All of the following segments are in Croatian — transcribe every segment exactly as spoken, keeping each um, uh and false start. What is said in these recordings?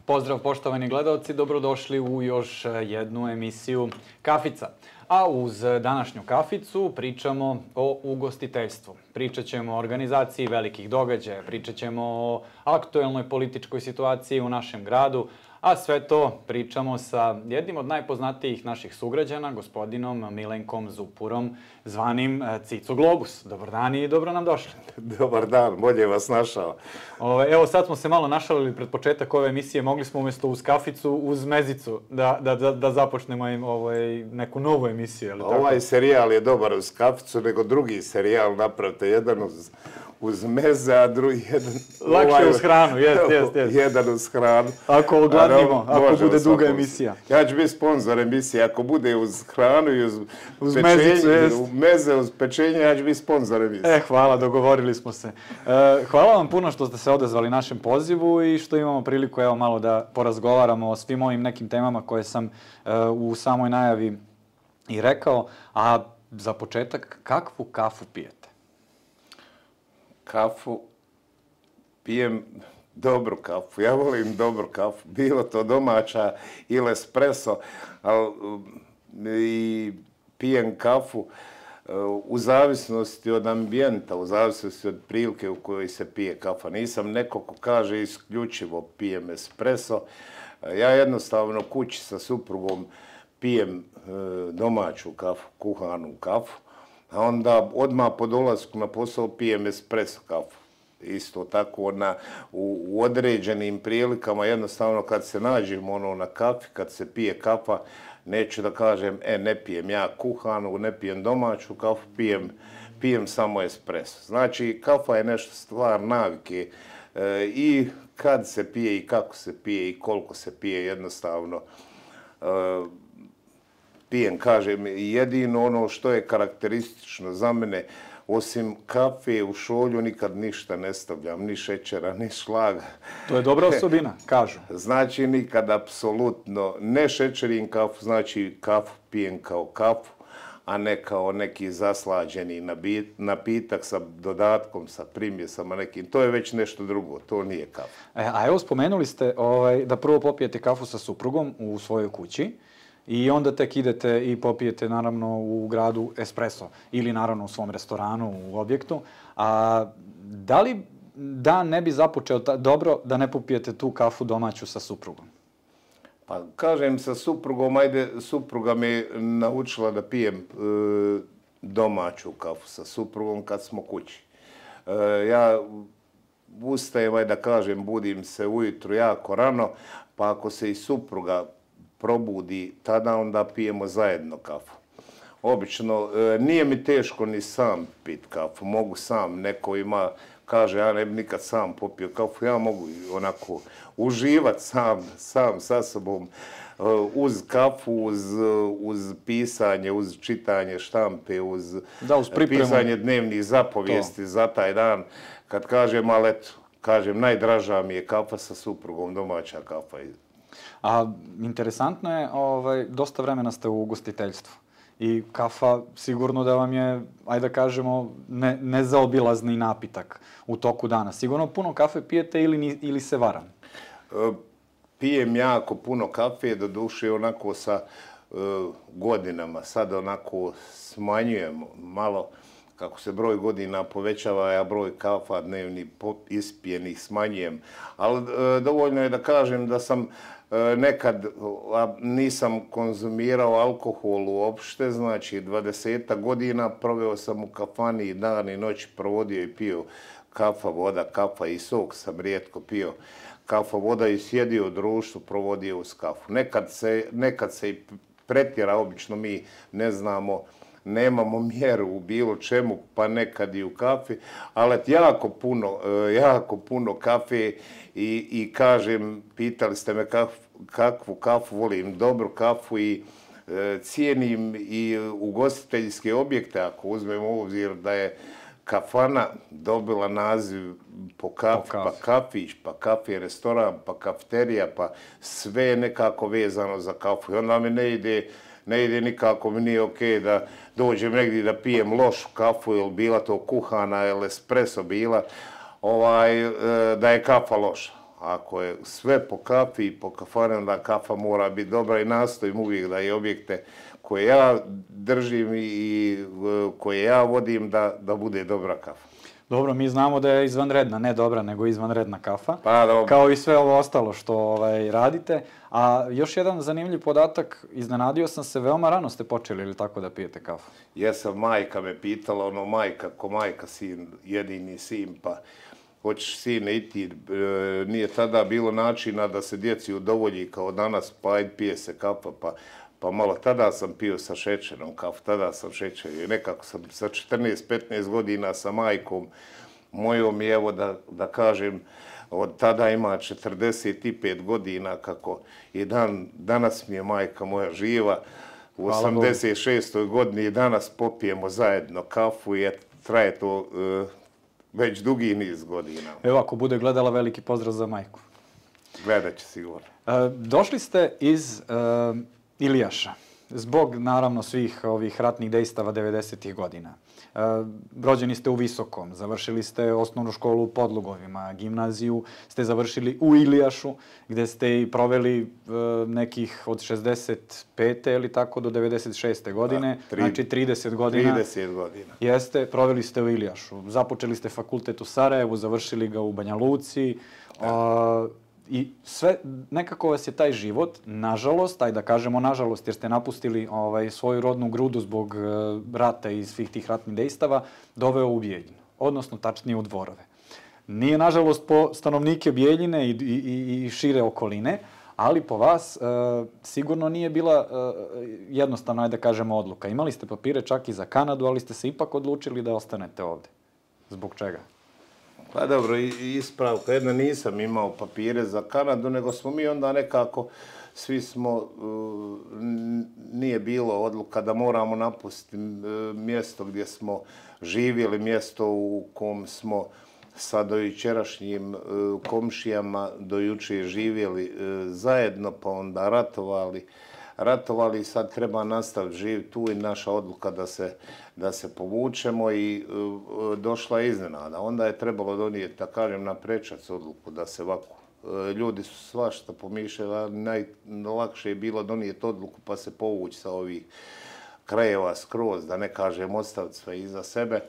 Pozdrav poštovani gledalci, dobrodošli u još jednu emisiju Kafica. A uz današnju kaficu pričamo o ugostiteljstvu. Pričat ćemo o organizaciji velikih događaja, pričat ćemo o aktuelnoj političkoj situaciji u našem gradu, a sve to pričamo sa jednim od najpoznatijih naših sugrađana, gospodinom Milenkom Zupurom, zvanim Cico Globus. Dobar dan i dobro nam došli. Dobar dan, bolje vas našao. Evo sad smo se malo našalili pred početak ove emisije, mogli smo umjesto uz kaficu, uz mezicu da, da, da, da započnemo im ovaj, neku novu emisiju. Ali ovaj tako? Serijal je dobar uz kaficu, nego drugi serijal napravite, jedan uz... uz meze, a drugi jedan... Lakše ovaj, uz hranu, jest, jest, jest. Jedan uz hranu. Ako ogladnimo, ako bude duga emisija. Ja ću biti sponsor emisije, ako bude uz hranu i uz, uz pečenje, mezicu, jest. meze, uz pečenje, ja ću biti sponsor emisije. E, hvala, dogovorili smo se. E, hvala vam puno što ste se odazvali našem pozivu i što imamo priliku evo malo da porazgovaramo o svim ovim nekim temama koje sam e, u samoj najavi i rekao. A za početak, kakvu kafu pijete? Kafu, pijem dobru kafu, ja volim dobru kafu, bilo to domaća ili espresso, ali i pijem kafu u zavisnosti od ambijenta, u zavisnosti od prilike u kojoj se pije kafa. Nisam neko ko kaže isključivo pijem espresso, ja jednostavno kući sa suprugom pijem domaću kafu, kuhanu kafu, a onda odmah po dolasku na posao pijem espresso kafu. Isto tako na, u, u određenim prilikama, jednostavno kad se nađemo ono na kafi, kad se pije kafa, neću da kažem, e, ne pijem ja kuhanu, ne pijem domaću kafu, pijem, pijem samo espresso. Znači, kafa je nešto stvar navike e, i kad se pije i kako se pije i koliko se pije, jednostavno e, pijem, kažem, jedino ono što je karakteristično za mene, osim kafe u šolju nikad ništa ne stavljam, ni šećera, ni šlaga. To je dobra osobina, kažu. Znači nikad apsolutno ne šećerim kafu, znači kafu pijem kao kafu, a ne kao neki zaslađeni napitak sa dodatkom, sa primjesama nekim. To je već nešto drugo, to nije kafa. E, a evo spomenuli ste ovaj, da prvo popijete kafu sa suprugom u svojoj kući, i onda tek idete i popijete naravno u gradu espresso ili naravno u svom restoranu, u objektu. A da li dan ne bi započeo dobro da ne popijete tu kafu domaću sa suprugom? Pa kažem sa suprugom, ajde, supruga me naučila da pijem e, domaću kafu sa suprugom kad smo kući. E, ja ustajem, ajde da kažem, budim se ujutru jako rano, pa ako se i supruga probudi, tada onda pijemo zajedno kafu. Obično, e, nije mi teško ni sam pit kafu, mogu sam, neko ima, kaže, ja ne bi nikad sam popio kafu, ja mogu onako uživati sam, sam sa sobom, e, uz kafu, uz, uz pisanje, uz čitanje štampe, uz, da, uz pisanje dnevnih zapovijesti to. Za taj dan. Kad kažem, ali eto, kažem, najdraža mi je kafa sa suprugom, domaća kafa. A interesantno je, ovaj, dosta vremena ste u ugostiteljstvu i kafa sigurno da vam je, ajde da kažemo, ne, nezaobilazni napitak u toku dana. Sigurno puno kafe pijete ili, ili se varam? E, pijem jako puno kafe, doduše onako sa e, godinama. Sad onako smanjujem malo, kako se broj godina povećava, ja broj kafa dnevni ispijenih smanjujem. Ali e, dovoljno je da kažem da sam nekad nisam konzumirao alkohol uopšte, znači dvadesetak godina proveo sam u kafani i dan i noć provodio i pio kafa, voda, kafa i sok sam rijetko pio. Kafa, voda i sjedio u društvu, provodio uz kafu. Nekad se, nekad se i pretjera, obično mi ne znamo, nemamo mjeru u bilo čemu, pa nekad i u kafi, ali jako puno, jako puno kafe i, i kažem, pitali ste me kaf, kakvu kafu volim, dobru kafu i e, cijenim i ugostiteljske objekte, ako uzmemo u obzir da je kafana dobila naziv po kafi, pa kafić, pa kafi restoran, pa kafeterija, pa sve je nekako vezano za kafu. I onda mi ne ide, ne ide nikako, mi nije okej da dođem negdje da pijem lošu kafu, ili bila to kuhana, ili espresso bila, ovaj, da je kafa loša. Ako je sve po kafi i po kafani, onda kafa mora biti dobra i nastojim uvijek da i objekte koje ja držim i koje ja vodim da, da bude dobra kafa. Dobro, mi znamo da je izvanredna, ne dobra, nego izvanredna kafa. Pa, dobro. Kao i sve ovo ostalo što ovaj, radite. A još jedan zanimljiv podatak, iznenadio sam se, veoma rano ste počeli ili tako da pijete kafu? Jesam, majka me pitala, ono, majka, ko majka, sin, jedini sin, pa hoćeš sine i ti, e, nije tada bilo načina da se djeci udovolji kao danas, pa ajde pije se kafa, pa Pa malo tada sam pio sa šećerom kafu, tada sam šećer i nekako sam sa četrnaest petnaest godina sa majkom mojom i evo da, da kažem od tada ima četrdeset pet godina kako i dan, danas mi je majka moja živa. U osamdeset šestoj godini i danas popijemo zajedno kafu i traje to uh, već dugi niz godina. Evo ako bude gledala, veliki pozdrav za majku. Gledat će sigurno. Uh, došli ste iz uh, Ilijaša, zbog naravno svih ovih ratnih dejstava devedesetih godina. E, rođeni ste u Visokom, završili ste osnovnu školu u Podlugovima, gimnaziju ste završili u Ilijašu, gde ste i proveli e, nekih od šezdeset pete ili tako do devedeset šeste godine, da, tri, znači trideset godina. trideset godina. Jeste, proveli ste u Ilijašu. Započeli ste fakultet u Sarajevu, završili ga u Banja Luci. Da. E, I sve, nekako vas je taj život, nažalost, aj da kažemo nažalost, jer ste napustili ovaj, svoju rodnu grudu zbog uh, rata i svih tih ratnih dejstava, doveo u Bijeljinu, odnosno tačnije u Dvorove. Nije, nažalost, po stanovnike Bijeljine i, i, i šire okoline, ali po vas uh, sigurno nije bila uh, jednostavno, aj da kažemo, odluka. Imali ste papire čak i za Kanadu, ali ste se ipak odlučili da ostanete ovde. Zbog čega? Pa dobro, ispravka. Jedna, nisam imao papire za Kanadu, nego smo mi onda nekako, svi smo, nije bilo odluka da moramo napustiti mjesto gdje smo živjeli, mjesto u kom smo sa dojučerašnjim komšijama do juče živjeli zajedno, pa onda ratovali. ratovali i sad treba nastaviti živjeti tu i naša odluka da se, da se povučemo i uh, došla je iznenada. Onda je trebalo donijeti, da kažem, na prečac odluku da se ovako. Uh, ljudi su svašta pomišljali, ali najlakše je bilo donijeti odluku pa se povući sa ovih krajeva skroz, da ne kažem ostaviti sve iza sebe,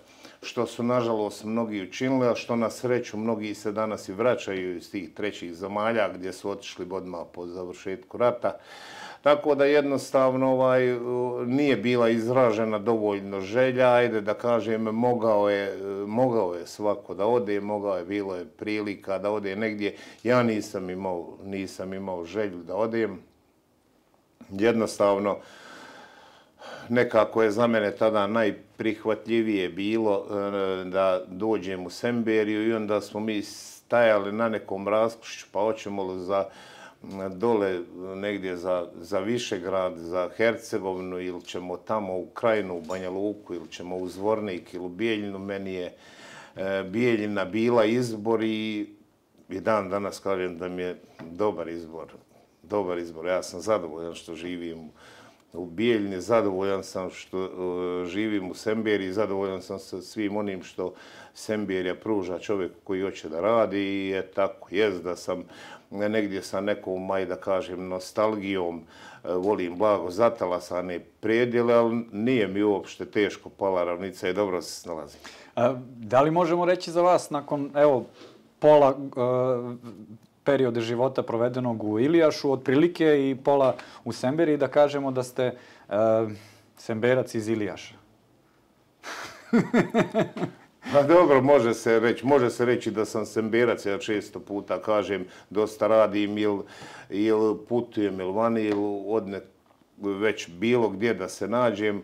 što su nažalost mnogi učinili, a što na sreću mnogi se danas i vraćaju iz tih trećih zemalja gdje su otišli odmah po završetku rata. Tako da jednostavno ovaj, nije bila izražena dovoljno želja, ajde da kažem, mogao je, mogao je svako da ode, mogao je, bilo je prilika da ode negdje. Ja nisam imao, nisam imao želju da odem. Jednostavno, nekako je za mene tada najprihvatljivije bilo da dođem u Semberiju i onda smo mi stajali na nekom raskršću, pa hoćemo li za dole negdje za, za Višegrad, za Hercegovinu ili ćemo tamo u Krajinu, u Banja Luku ili ćemo u Zvornik ili u Bijeljinu. Meni je e, Bijeljina bila izbor i, i dan danas kažem da mi je dobar izbor. Dobar izbor. Ja sam zadovoljan što živim u Bijeljini, zadovoljan sam što uh, živim u Semberiji, zadovoljan sam sa svim onim što Semberija pruža čovjeku koji hoće da radi i je tako. Jest da sam negdje sa nekom, aj da kažem, nostalgijom, uh, volim blago zatalasane predjele, ali nije mi uopšte teško pala ravnica i dobro se snalazim. A, da li možemo reći za vas nakon, evo, pola uh, periode života provedenog u Ilijašu, otprilike i pola u Semberiji, da kažemo da ste uh, Semberac iz Ilijaša? Pa dobro, može se reći, može se reći da sam Semberac, ja često puta kažem, dosta radim ili il putujem ili vani ili odne već bilo gdje da se nađem. Uh,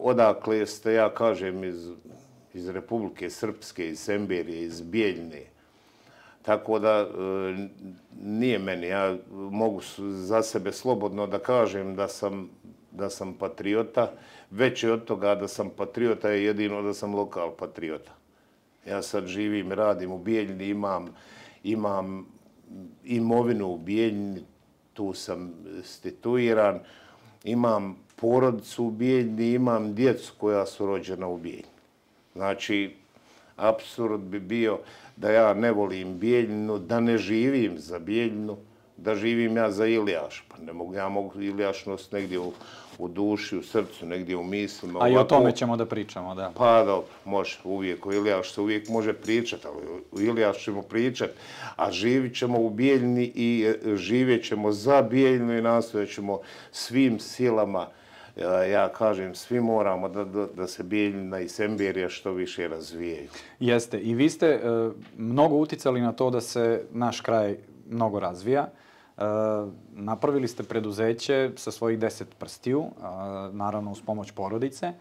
odakle ste, ja kažem, iz, iz Republike Srpske, iz Semberije, iz Bijeljine. Tako da nije meni, ja mogu za sebe slobodno da kažem da sam, da sam patriota. Veće od toga da sam patriota je jedino da sam lokal patriota. Ja sad živim, radim u Bijeljini, imam, imam imovinu u Bijeljini, tu sam situiran, imam porodicu u Bijeljini, imam djecu koja su rođena u Bijeljini. Znači, apsurd bi bio da ja ne volim Bijeljinu, da ne živim za Bijeljinu, da živim ja za Ilijaš. Pa ne mogu, ja mogu Ilijaš nositi negdje u, u duši, u srcu, negdje u mislima. A ovako, i o tome ćemo da pričamo, da. Pa dobro, može uvijek, o Ilijaš se uvijek može pričati, ali o Ilijaš ćemo pričati, a živit ćemo u Bijeljini i živjet ćemo za Bijeljinu i nastojat ćemo svim silama, ja kažem, svi moramo da, da, da se Bijeljina i Semberija što više razvijaju. Jeste, i vi ste e, mnogo uticali na to da se naš kraj mnogo razvija. E, napravili ste preduzeće sa svojih deset prstiju, a, naravno uz pomoć porodice.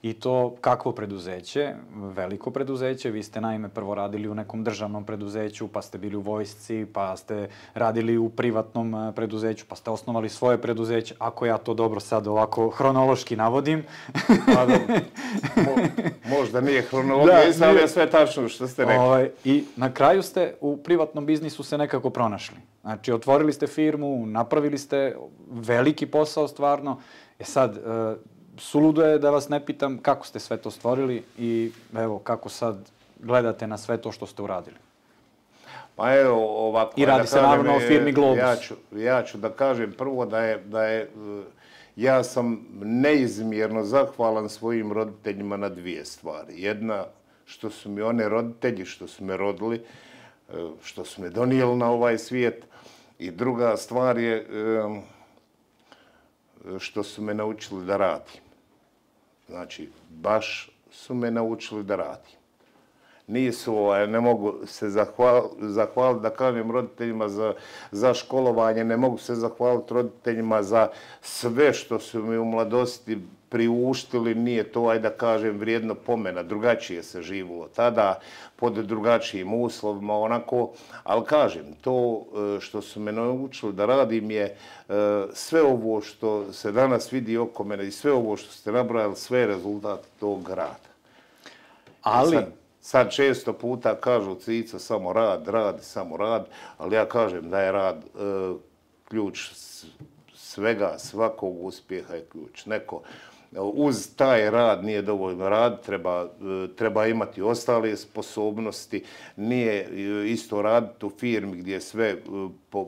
I to kakvo preduzeće? Veliko preduzeće. Vi ste naime prvo radili u nekom državnom preduzeću, pa ste bili u vojsci, pa ste radili u privatnom preduzeću, pa ste osnovali svoje preduzeće. Ako ja to dobro sad ovako hronološki navodim. Pa dobro, Mo, možda nije hronologija, da, ali je sve tačno što ste rekli. Ovaj, I na kraju ste u privatnom biznisu se nekako pronašli. Znači, otvorili ste firmu, napravili ste veliki posao stvarno. E sad, suludo je da vas ne pitam kako ste sve to stvorili i evo kako sad gledate na sve to što ste uradili. Pa evo ovako... I radi da se naravno o firmi Globus. Ja ću, ja ću da kažem prvo da je, da je... Ja sam neizmjerno zahvalan svojim roditeljima na dvije stvari. Jedna, što su mi one roditelji, što su me rodili, što su me donijeli na ovaj svijet. I druga stvar je što su me naučili da radim. Znači, baš su me naučili da radim. Nisu, ovaj, ne mogu se zahvaliti, zahval, da kažem roditeljima za, za školovanje, ne mogu se zahvaliti roditeljima za sve što su mi u mladosti priuštili, nije to, ajde da kažem, vrijedno pomena, drugačije se živilo tada, pod drugačijim uslovima, onako, ali kažem, to što su me naučili da radim je sve ovo što se danas vidi oko mene i sve ovo što ste nabrojali, sve je rezultat tog rada. Ali... Sad, sad često puta kažu Cico samo rad, rad, samo rad, ali ja kažem da je rad e, ključ svega, svakog uspjeha je ključ. Neko uz taj rad nije dovoljno rad, treba, treba imati ostale sposobnosti, nije isto raditi u firmi gdje je sve po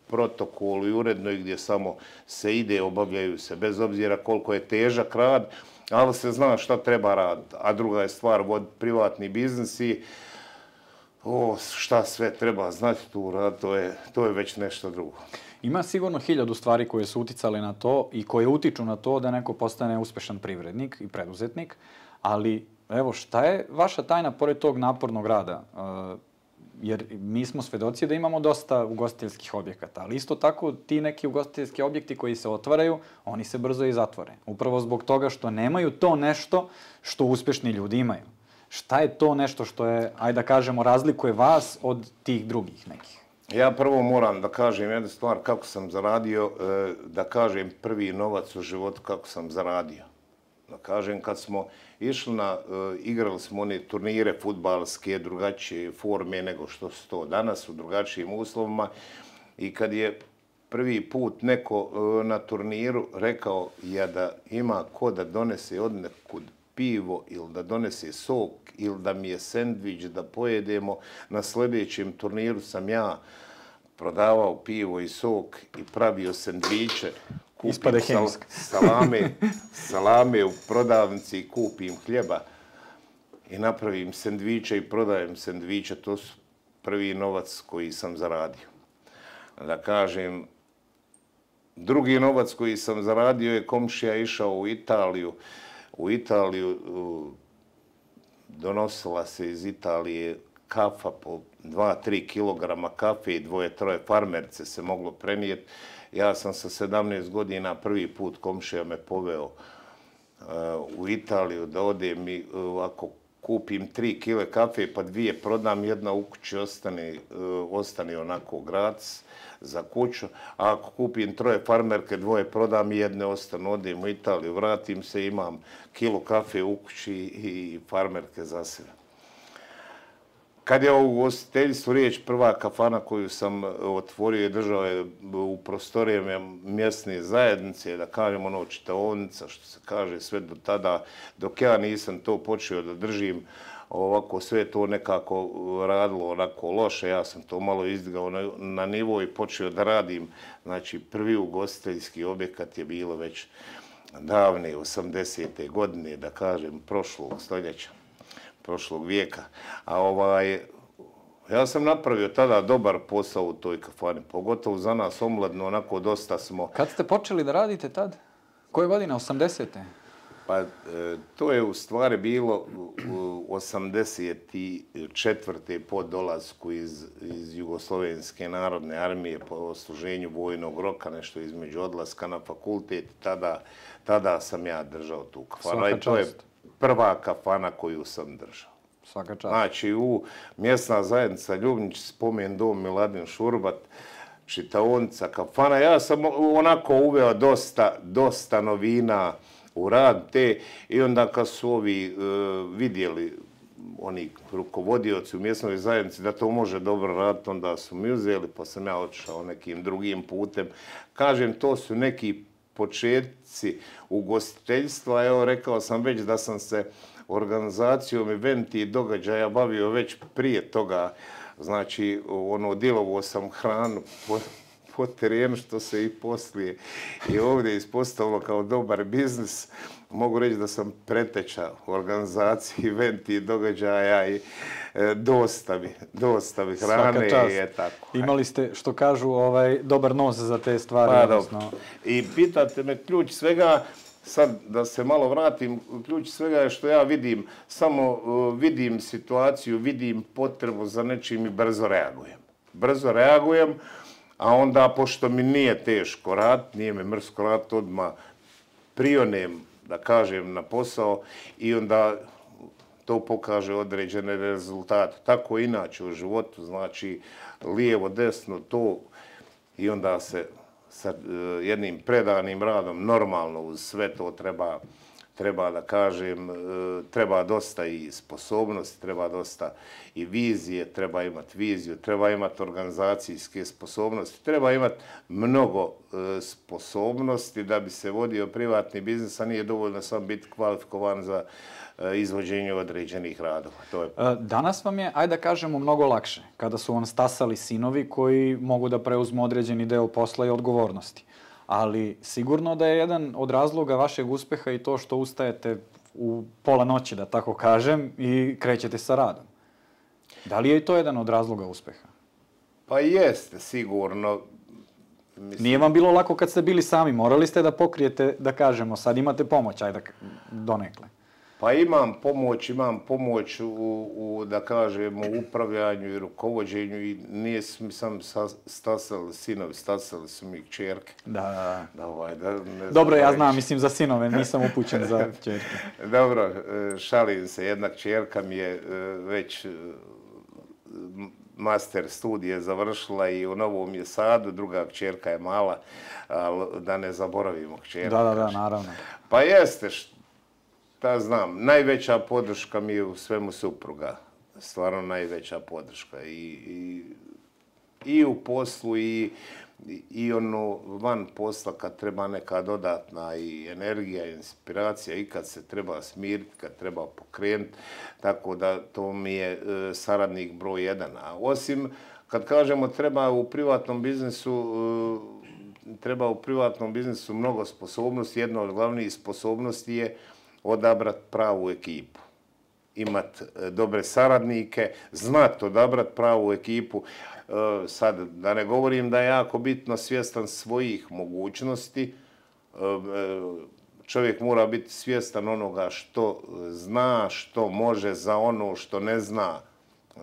protokolu i uredno i gdje samo se ide, obavljaju se, bez obzira koliko je težak rad, ali se zna šta treba raditi. A druga je stvar vod privatni biznis i o, šta sve treba znati tu rad, to je, to je već nešto drugo. Ima sigurno hiljadu stvari koje su uticale na to i koje utiču na to da neko postane uspešan privrednik i preduzetnik, ali evo šta je vaša tajna pored tog napornog rada? Jer mi smo svedoci da imamo dosta ugostiteljskih objekata, ali isto tako ti neki ugostiteljski objekti koji se otvaraju, oni se brzo i zatvore. Upravo zbog toga što nemaju to nešto što uspešni ljudi imaju. Šta je to nešto što je, ajde da kažemo, razlikuje vas od tih drugih nekih? Ja prvo moram da kažem jednu stvar kako sam zaradio, da kažem prvi novac u životu kako sam zaradio. Da kažem, kad smo išli na, igrali smo one turnire fudbalske, drugačije forme nego što su to danas, u drugačijim uslovima. I kad je prvi put neko na turniru rekao ja da ima ko da donese od nekud pivo ili da donese sok ili da mi je sendvič da pojedemo, na sljedećem turniru sam ja prodavao pivo i sok i pravio sendviče. Ispade hemijski. Salame, salame u prodavnici, kupim hljeba i napravim sendviče i prodajem sendviče. To su prvi novac koji sam zaradio. Da kažem, drugi novac koji sam zaradio je komšija išao u Italiju. U Italiju donosila se iz Italije kafa po dva do tri kilograma kafe i dvoje, troje farmerce se moglo prenijeti. Ja sam sa sedamnaest godina prvi put komšija me poveo uh, u Italiju da odem i uh, ako kupim tri kile kafe pa dvije prodam, jedna u kući ostane, uh, ostane onako gratis za kuću, a ako kupim troje farmerke, dvoje prodam i jedne ostanu, odem u Italiju, vratim se, imam kilo kafe u kući i farmerke za sebe. Kad je o ugostiteljstvu riječ, prva kafana koju sam otvorio i držao je u prostorijama mjesne zajednice, da kažem ono čitaonica, što se kaže sve do tada, dok ja nisam to počeo da držim, ovako sve to nekako radilo onako loše. Ja sam to malo izdigao na, na nivo i počeo da radim. Znači, prvi ugostiteljski objekat je bilo već davne osamdesete godine, da kažem, prošlog stoljeća, prošlog vijeka. A ovaj, ja sam napravio tada dobar posao u toj kafani, pogotovo za nas omladno, onako dosta smo... Kad ste počeli da radite tad? Koje godine? osamdesete? Pa e, to je u stvari bilo osamdeset četvrte po dolasku iz, iz Jugoslovenske narodne armije po odsluženju vojnog roka, nešto između odlaska na fakultet. Tada, tada sam ja držao tu kafanu. I to je prva kafana koju sam držao. Svaka čast. Znači, u mjesna zajednica Ljubnić, spomen dom Miladin Šurbat, čitaonica, kafana. Ja sam onako uveo dosta, dosta novina u rad te i onda kad su ovi uh, vidjeli, oni rukovodioci u mjesnoj zajednici da to može dobro raditi, onda su mi uzeli, pa sam ja otišao nekim drugim putem. Kažem, to su neki početci ugostiteljstva. Evo, rekao sam već da sam se organizacijom eventi i događaja bavio već prije toga. Znači, ono, dilovo sam hranu po, po terenu, što se i poslije i ovdje ispostavilo kao dobar biznis. Mogu reći da sam preteča organizaciji eventi i događaja i e, dostavi, dostavi hrane i je tako. Imali ste, što kažu, ovaj, dobar nos za te stvari. Pa, odnosno... I pitate me, ključ svega, sad da se malo vratim, ključ svega je što ja vidim, samo uh, vidim situaciju, vidim potrebu za nečim i brzo reagujem. Brzo reagujem, a onda, pošto mi nije teško rad, nije me mrsko rad, odmah prionem, da kažem, na posao i onda to pokaže određene rezultate. Tako inače u životu, znači lijevo, desno, to i onda se sa jednim predanim radom, normalno uz sve to treba, treba da kažem, treba dosta i sposobnosti, treba dosta i vizije, treba imati viziju, treba imati organizacijske sposobnosti, treba imati mnogo sposobnosti da bi se vodio privatni biznis, a nije dovoljno samo biti kvalifikovan za izvođenje određenih radova. To je... Danas vam je, ajde da kažemo, mnogo lakše, kada su vam stasali sinovi koji mogu da preuzmu određeni deo posla i odgovornosti. Ali sigurno da je jedan od razloga vašeg uspeha i to što ustajete u pola noći, da tako kažem, i krećete sa radom. Da li je i to jedan od razloga uspeha? Pa jeste, sigurno. Mislim... Nije vam bilo lako kad ste bili sami, morali ste da pokrijete, da kažemo, sad imate pomoć, ajde donekle. Pa imam pomoć, imam pomoć u, u da kažemo, upravljanju i rukovođenju i nije mi sam stasali sinovi, stasali su mi kćerke. Da, da, da. Ovaj, da ne Dobro, ja znam, mislim, za sinove, nisam upućen za kćerke. Dobro, šalim se, jedna kćerka mi je već master studije završila i u Novom je Sadu, druga kćerka je mala, ali da ne zaboravimo kćerku. Da, da, da, naravno. Pa jeste, da znam, najveća podrška mi je u svemu supruga. Stvarno najveća podrška. I, i, i u poslu i, i ono van posla kad treba neka dodatna i energija, i inspiracija i kad se treba smiriti, kad treba pokrenuti. Tako da to mi je e, saradnik broj jedan. A osim, kad kažemo treba u privatnom biznisu, e, treba u privatnom biznisu mnogo sposobnosti. Jedna od glavnih sposobnosti je odabrati pravu ekipu, imati dobre saradnike, znati odabrati pravu ekipu. Sad, da ne govorim da je jako bitno svjestan svojih mogućnosti, čovjek mora biti svjestan onoga što zna, što može za ono što ne zna,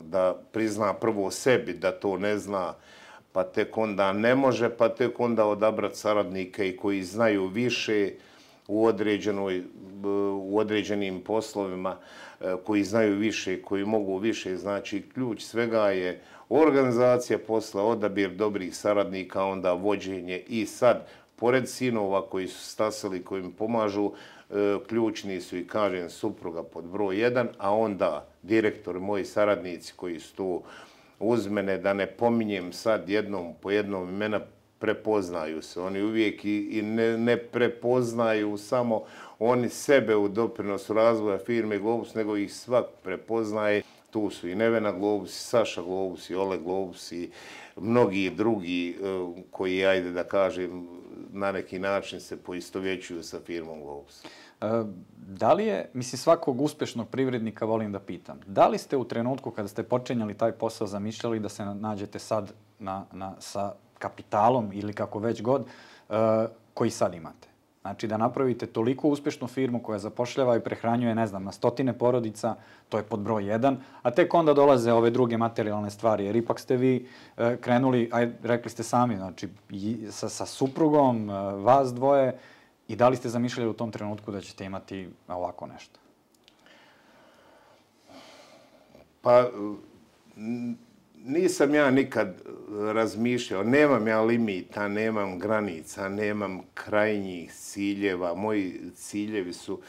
da prizna prvo sebi da to ne zna, pa tek onda ne može, pa tek onda odabrati saradnike i koji znaju više u određenoj, u određenim poslovima, koji znaju više, koji mogu više. Znači, ključ svega je organizacija posla, odabir dobrih saradnika, onda vođenje i sad, pored sinova koji su stasali, koji im pomažu, ključni su i, kažem, supruga pod broj jedan, a onda direktor, moji saradnici koji su tu uz mene, da ne pominjem sad jednom po jednom imena, prepoznaju se. Oni uvijek i, i ne, ne prepoznaju samo oni sebe u doprinosu razvoja firme Globus, nego ih svak prepoznaje. Tu su i Nevena Globus, i Saša Globus, i Ole Globus, i mnogi drugi koji, ajde da kažem, na neki način se poistovjećuju sa firmom Globus. Da li je, mislim, svakog uspješnog privrednika volim da pitam, da li ste u trenutku kada ste počinjali taj posao zamišljali da se nađete sad na, na, sa kapitalom ili kako već god uh, koji sad imate? Znači da napravite toliko uspješnu firmu koja zapošljava i prehranjuje, ne znam, na stotine porodica, to je pod broj jedan, a tek onda dolaze ove druge materijalne stvari, jer ipak ste vi uh, krenuli, aj, rekli ste sami, znači sa, sa suprugom, uh, vas dvoje, i da li ste zamišljali u tom trenutku da ćete imati ovako nešto? Pa, nisam ja nikad razmišljao. Nemam ja limita, nemam granica, nemam krajnjih ciljeva. Moji ciljevi su,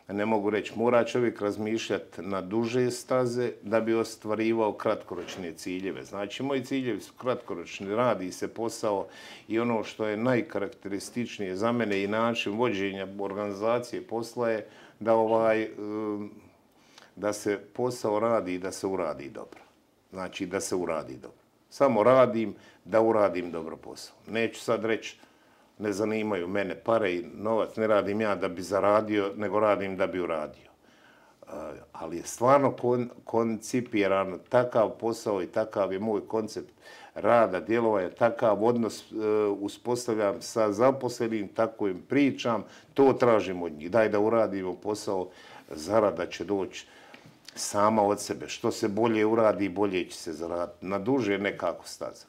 ne mogu reći, mora čovjek razmišljati na duže staze da bi ostvarivao kratkoročne ciljeve. Znači, moji ciljevi su kratkoročni, radi se posao i ono što je najkarakterističnije za mene i način vođenja organizacije posla je da, ovaj, da se posao radi i da se uradi dobro. Znači, da se uradi dobro. Samo radim da uradim dobro posao. Neću sad reći ne zanimaju mene pare i novac, ne radim ja da bi zaradio, nego radim da bi uradio. Ali je stvarno kon, koncipiran takav posao i takav je moj koncept rada, djelovanja, takav odnos uh, uspostavljam sa zaposlenim, tako im pričam, to tražim od njih. Daj da uradimo posao, zarada će doći sama od sebe. Što se bolje uradi, bolje će se zaraditi. Na duže nekako staza.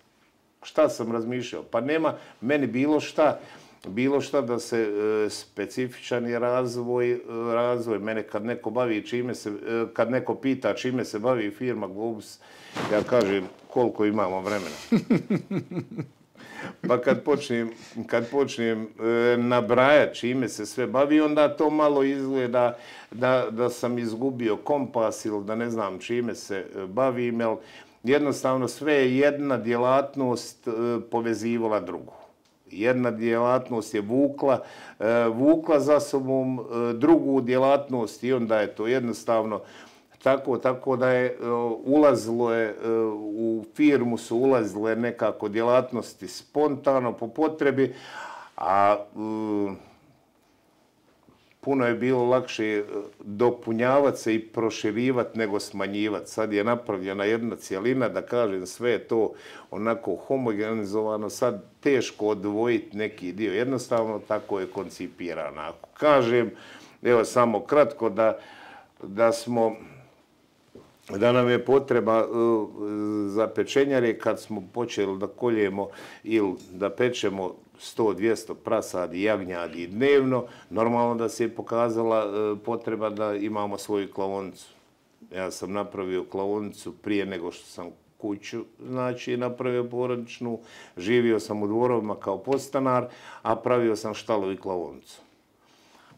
Šta sam razmišljao? Pa nema meni bilo šta, bilo šta da se e, specifičan je razvoj, e, razvoj. Mene kad neko bavi čime se, e, kad neko pita čime se bavi firma Globus, ja kažem koliko imamo vremena. Pa kad počnem, kad počnem e, nabrajati čime se sve bavi, onda to malo izgleda da, da sam izgubio kompas ili da ne znam čime se bavim, jer jednostavno sve je jedna djelatnost e, povezivala drugu. Jedna djelatnost je vukla, e, vukla za sobom e, drugu djelatnost i onda je to jednostavno tako, tako da je e, ulazilo je, e, u firmu su ulazile nekako djelatnosti spontano po potrebi, a e, puno je bilo lakše dopunjavati se i proširivati nego smanjivati. Sad je napravljena jedna cijelina, da kažem, sve je to onako homogenizovano, sad teško odvojiti neki dio. Jednostavno tako je koncipirano. Ako kažem, evo samo kratko, da, da smo, da nam je potreba uh, za pečenjare kad smo počeli da koljemo ili da pečemo sto do dvjesto prasadi, jagnjadi dnevno, normalno da se je pokazala uh, potreba da imamo svoju klaonicu. Ja sam napravio klaonicu prije nego što sam kuću, znači napravio porodičnu, živio sam u dvorovima kao podstanar, a pravio sam štalu i klaonicu.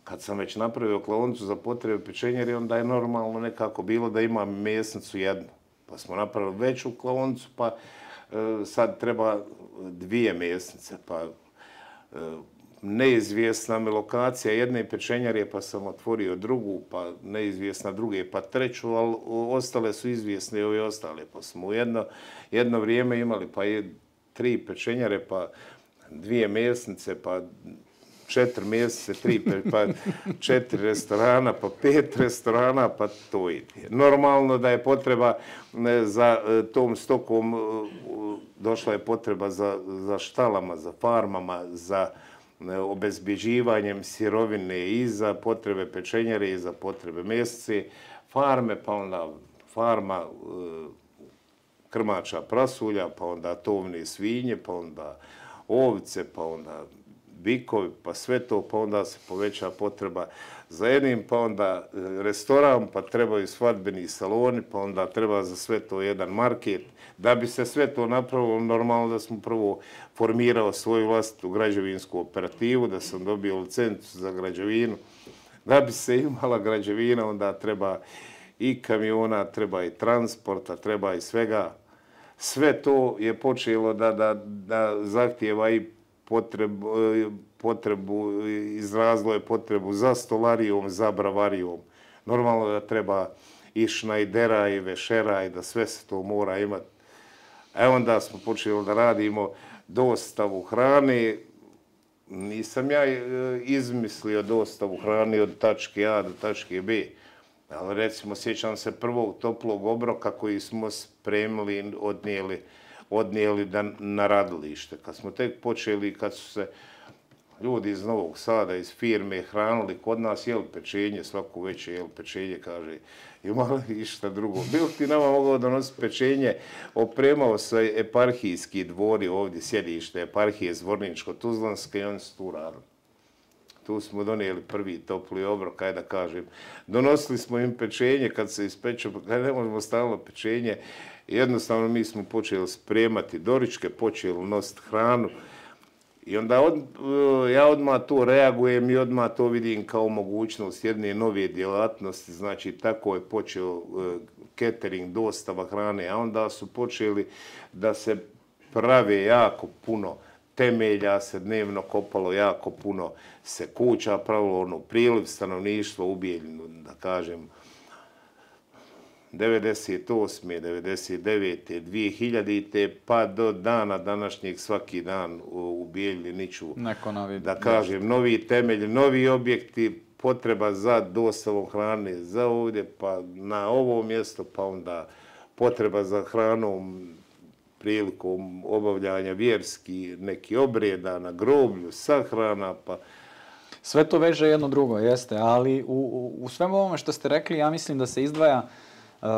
Kad sam već napravio klaonicu za potrebe pečenjari, onda je normalno nekako bilo da imam mesnicu jednu. Pa smo napravili veću klaonicu, pa e, sad treba dvije mesnice. Pa e, neizvjesna mi lokacija jedne pečenjarije, pa sam otvorio drugu, pa neizvjesna druge, pa treću, ali ostale su izvjesne i ove ostale. Pa smo u jedno, jedno vrijeme imali pa je tri pečenjare, pa dvije mesnice, pa četiri mjeseca, tri, pa četiri restorana, pa pet restorana, pa to ide. Normalno da je potreba za tom stokom, došla je potreba za, za štalama, za farmama, za obezbjeđivanjem sirovine i za potrebe pečenjare i za potrebe mesece, farme, pa onda farma krmača prasulja, pa onda tovne svinje, pa onda ovce, pa onda bikovi, pa sve to, pa onda se poveća potreba za jednim, pa onda restoran, pa trebaju svadbeni saloni, pa onda treba za sve to jedan market. Da bi se sve to napravilo, normalno da smo prvo formirao svoju vlastitu građevinsku operativu, da sam dobio licencu za građevinu. Da bi se imala građevina, onda treba i kamiona, treba i transporta, treba i svega. sve to je počelo da, da, da zahtijeva i potrebu, potrebu, izrazilo je potrebu za stolarijom, za bravarijom. Normalno da treba i šnajdera i vešera i da sve se to mora imati. E onda smo počeli da radimo dostavu hrane. Nisam ja izmislio dostavu hrane od tačke A do tačke B. Ali recimo, sjećam se prvog toplog obroka koji smo spremili, odnijeli, odnijeli da, na radilište. Kad smo tek počeli, kad su se ljudi iz Novog Sada, iz firme hranili kod nas, jeli pečenje, svako večer jeli pečenje, kaže, imali išta drugo. Bilo ti nama mogao donositi pečenje, opremao se eparhijski dvori ovdje, sjedište eparhije Zvorničko-Tuzlanske i oni su tu radili. Tu smo donijeli prvi topli obrok, kaj da kažem. Donosili smo im pečenje kad se ispeče, kaj ne možemo stalno pečenje. Jednostavno mi smo počeli spremati doričke, počeli nositi hranu. I onda od, ja odmah to reagujem i odmah to vidim kao mogućnost jedne nove djelatnosti. Znači, tako je počeo catering, dostava hrane, a onda su počeli da se prave jako puno temelja, se dnevno kopalo jako puno, se kuća pravilo, ono, priliv stanovništva u Bijeljinu, da kažem, devedeset osme, devedeset devete, dvije hiljadite pa do dana današnjeg svaki dan u Bijeljini niču, da kažem, novi temelji, novi objekti, potreba za dostavom hrane za ovdje, pa na ovo mjesto, pa onda potreba za hranom prilikom obavljanja vjerski neki obreda na groblju, sahrana, pa... Sve to veže jedno drugo, jeste, ali u, u, u svemu ovome što ste rekli, ja mislim da se izdvaja, uh,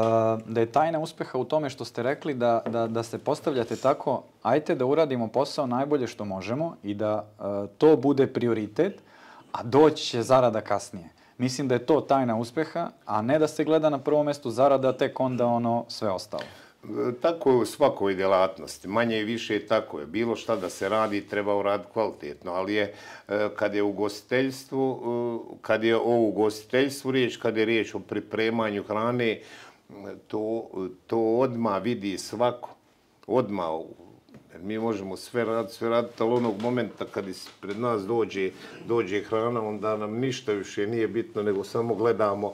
da je tajna uspjeha u tome što ste rekli da, da, da se postavljate tako, ajte da uradimo posao najbolje što možemo i da uh, to bude prioritet, a doći će zarada kasnije. Mislim da je to tajna uspjeha, a ne da se gleda na prvom mjestu zarada, tek onda ono sve ostalo. Tako je u svakoj djelatnosti, manje i više tako je. Bilo šta da se radi, treba uraditi kvalitetno, ali je kad je ugostiteljstvu, kad je o ugostiteljstvu riječ, kad je riječ o pripremanju hrane, to, to odmah vidi svako. Odmah, jer mi možemo sve raditi, sve raditi, ali onog momenta kad pred nas dođe, dođe hrana, onda nam ništa više nije bitno, nego samo gledamo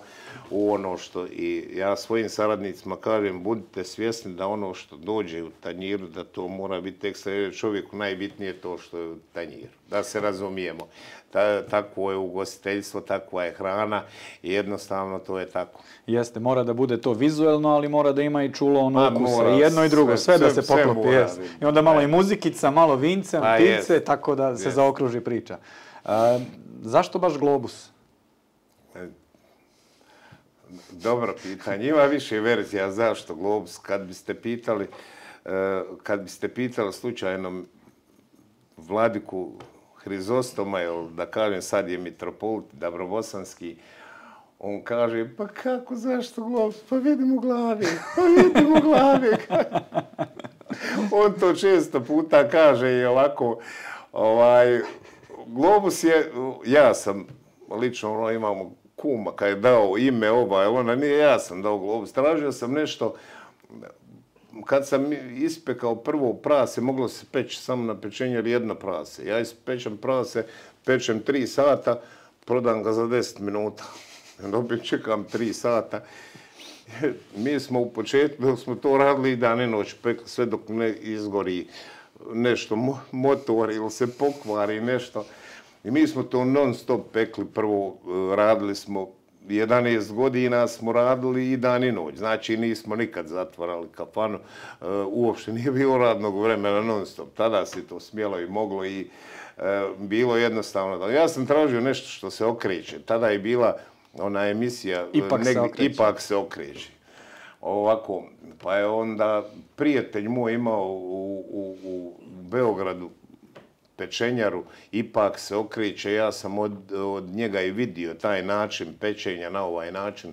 u ono što, i ja svojim saradnicima kažem, budite svjesni da ono što dođe u tanjiru, da to mora biti ekstra, čovjeku najbitnije to što je u tanjiru, da se razumijemo. Ta, takvo je ugostiteljstvo, takva je hrana i jednostavno to je tako. Jeste, mora da bude to vizuelno, ali mora da ima i čulo ono okusa, i jedno i drugo, sve, sve da se poklopi. I onda malo i muzikica, malo vince, ptice, tako da se zaokruži priča. Uh, zašto baš Globus? Dobro pitanje. Ima više verzija zašto Globus. Kad biste pitali, kad biste pitali slučajno vladiku Hrizostoma, ili da kažem sad je mitropolit Dabrobosanski, on kaže, pa kako, zašto Globus? Pa vidim u glavi, pa vidim u glavi. On to često puta kaže i ovako, ovaj, Globus je, ja sam, lično ono, imamo kuma kad je dao ime ova, ona nije, ja sam dao Globus. Tražio sam nešto, kad sam ispekao prvo prase, moglo se peći samo na pečenje ili jedno prase. Ja ispečem prase, pečem tri sata, prodam ga za deset minuta. Opet čekam tri sata. Mi smo u početku, dok smo to radili i dan i noć, pekli sve dok ne izgori nešto, motor ili se pokvari nešto. I mi smo to non stop pekli. Prvo radili smo, jedanaest godina smo radili i dan i noć. Znači nismo nikad zatvarali kafanu. Uopšte nije bilo radnog vremena non stop. Tada se to smjelo i moglo i bilo jednostavno. Ja sam tražio nešto što se okreće. Tada je bila ona emisija Ipak se okreće. Ipak se okreće. Ovako, pa je onda prijatelj moj imao u, u, u Beogradu pečenjaru, Ipak se okreće, ja sam od, od njega i vidio taj način pečenja na ovaj način,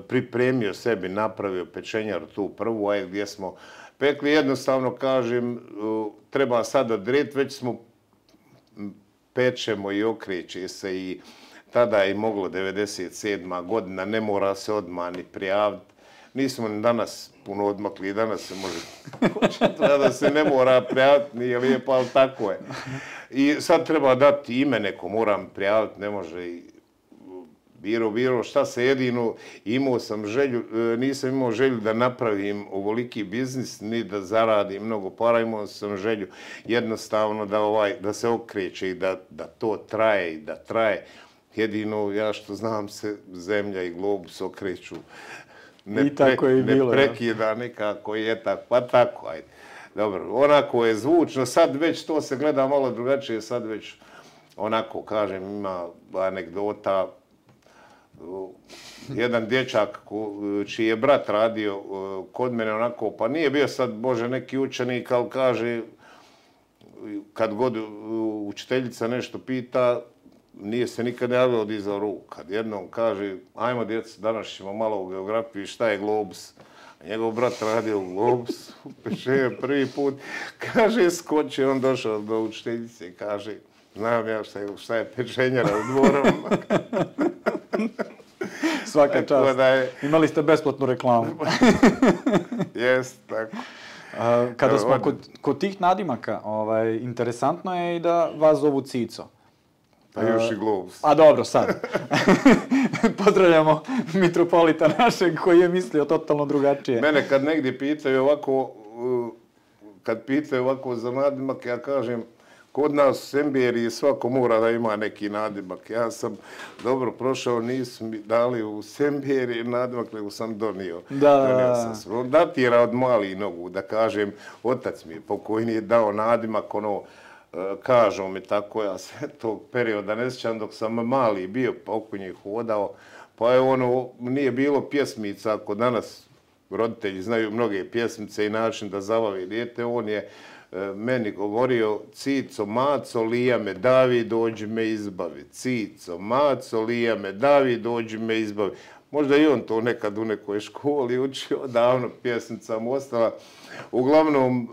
pripremio sebi, napravio pečenjaru tu prvu, a gdje smo pekli, jednostavno kažem, treba sad odrediti, već smo pečemo i okreće se i tada je moglo devedeset sedma godina, ne mora se odmah ni prijaviti. nismo ni danas puno odmakli, danas se može, da se ne mora prijaviti, nije lijepo, ali tako je. I sad treba dati ime neko, moram prijaviti, ne može i biro, biro, šta se jedino, imao sam želju, nisam imao želju da napravim ovoliki biznis, ni da zaradim mnogo para, imao sam želju jednostavno da, ovaj, da se okreće i da, da to traje i da traje. Jedino, ja što znam se, zemlja i globus okreću. Ne, I tako pre, je i bilo. Ne prekida nikako, je tako, pa tako, ajde. Dobro, onako je zvučno, sad već to se gleda malo drugačije, sad već onako, kažem, ima anegdota. Jedan dječak čiji je brat radio kod mene onako, pa nije bio sad, Bože, neki učenik, ali kaže, kad god učiteljica nešto pita, nije se nikad javio od iza ruku. Kad jednom kaže, ajmo djeca, danas ćemo malo u geografiji, šta je globus? A njegov brat radio u globus, peše prvi put, kaže, skoče, on došao do učiteljice i kaže, znam ja šta je, šta je pečenjara u dvorom. Svaka čast. Je... Imali ste besplatnu reklamu. Jest, tako. A, kada smo kod, kod tih nadimaka, ovaj, interesantno je i da vas zovu Cico. Pa još i globus. A dobro, sad. Pozdravljamo mitropolita našeg koji je mislio totalno drugačije. Mene kad negdje pitaju ovako, kad pitaju ovako za nadimak, ja kažem, kod nas u Semberiji svako mora da ima neki nadimak. Ja sam dobro prošao, nisu mi dali u Semberiji nadimak, nego sam donio. Da, donio sam se. On datira od malih nogu, da kažem, otac mi je pokojni je dao nadimak, ono, kažu mi tako, ja sve tog perioda ne sjećam dok sam mali bio, pa oko njih hodao, pa je ono, nije bilo pjesmica, ako danas roditelji znaju mnoge pjesmice i način da zabavi dijete, on je meni govorio, Cico, maco, lija me, davi, dođi me izbavi. Cico, maco, lija me, davi, dođi me izbavi. Možda i on to nekad u nekoj školi učio, davno pjesmica mu ostala. Uglavnom,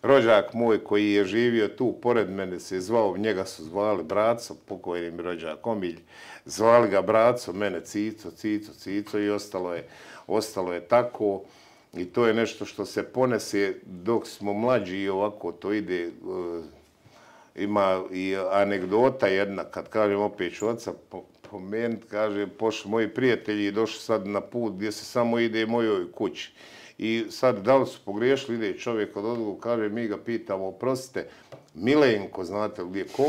rođak moj koji je živio tu, pored mene se zvao, njega su zvali Braco, pokojni mi rođak Omilj, zvali ga Braco, mene Cico, Cico, Cico i ostalo je, ostalo je tako. I to je nešto što se ponese dok smo mlađi i ovako to ide. Ima i anegdota jedna, kad kažem opet ću oca pomenuti, kaže, pošli moji prijatelji i došli sad na put gdje se samo ide mojoj kući. I sad, da li su pogriješili, ide čovjek od odluku, kaže, mi ga pitamo, oprostite, Milenko, znate li gdje, ko?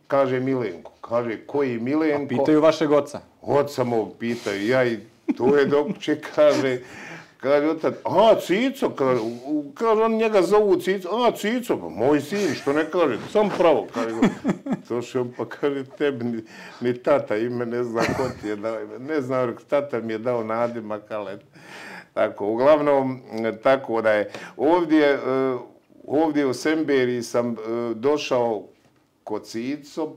Kaže Milenko. Kaže, koji Milenko? A pitaju vašeg oca? Oca mog pitaju, ja i to je dok će, kaže, kaže otac, a, Cico, kaže, kaže, on njega zovu Cico, a, Cico, pa moj sin, što ne kaže, sam pravo, kaže, došao, pa kaže, tebi ni, ni tata ime ne zna ko ti je dao ime, ne znam, tata mi je dao nadimak, ali tako, uglavnom, tako da je, ovdje, ovdje u Semberiji sam došao kod Cico,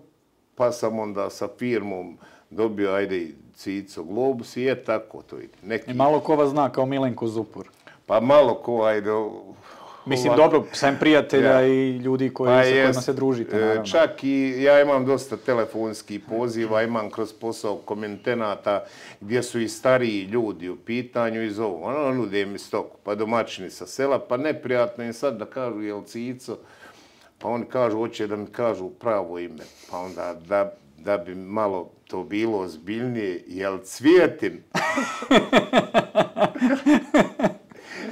pa sam onda sa firmom dobio, ajde, Cico Globus i je tako to ide. Neki... I malo ko vas zna kao Milenko Zupur? Pa malo ko, ajde... Mislim, ovako... dobro, sem prijatelja ja. I ljudi koji, pa sa kojima jest, se družite, naravno. Čak i ja imam dosta telefonskih poziva, imam kroz posao komentenata gdje su i stariji ljudi u pitanju i zovu. Ono, nude mi stoku, pa domaćini sa sela, pa neprijatno im sad da kažu jel Cico, pa oni kažu, hoće da mi kažu pravo ime, pa onda da... da bi malo to bilo ozbiljnije, jel Cvijetin?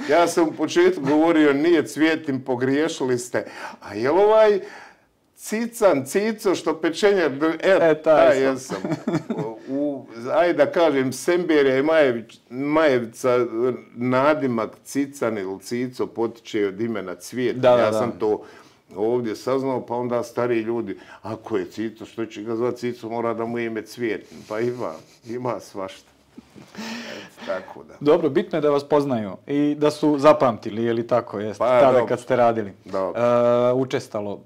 Ja sam u početku govorio, nije Cvijetin, pogriješili ste. A jel ovaj Cican, Cico, što pečenje... E, e taj ja sam. U, ajde da kažem, Semberija i Majević, Majevca, nadimak Cican ili Cico potiče od imena Cvijetin. Da, da, ja da. sam to... ovdje saznao, pa onda stariji ljudi, ako je Cico, što će ga zvati Cico, mora da mu ime Cvijetin. Pa ima, ima svašta. Et, tako da. Dobro, bitno je da vas poznaju i da su zapamtili, je li tako, jeste, pa, tada dobro. Kad ste radili. Dobro. E, učestalo.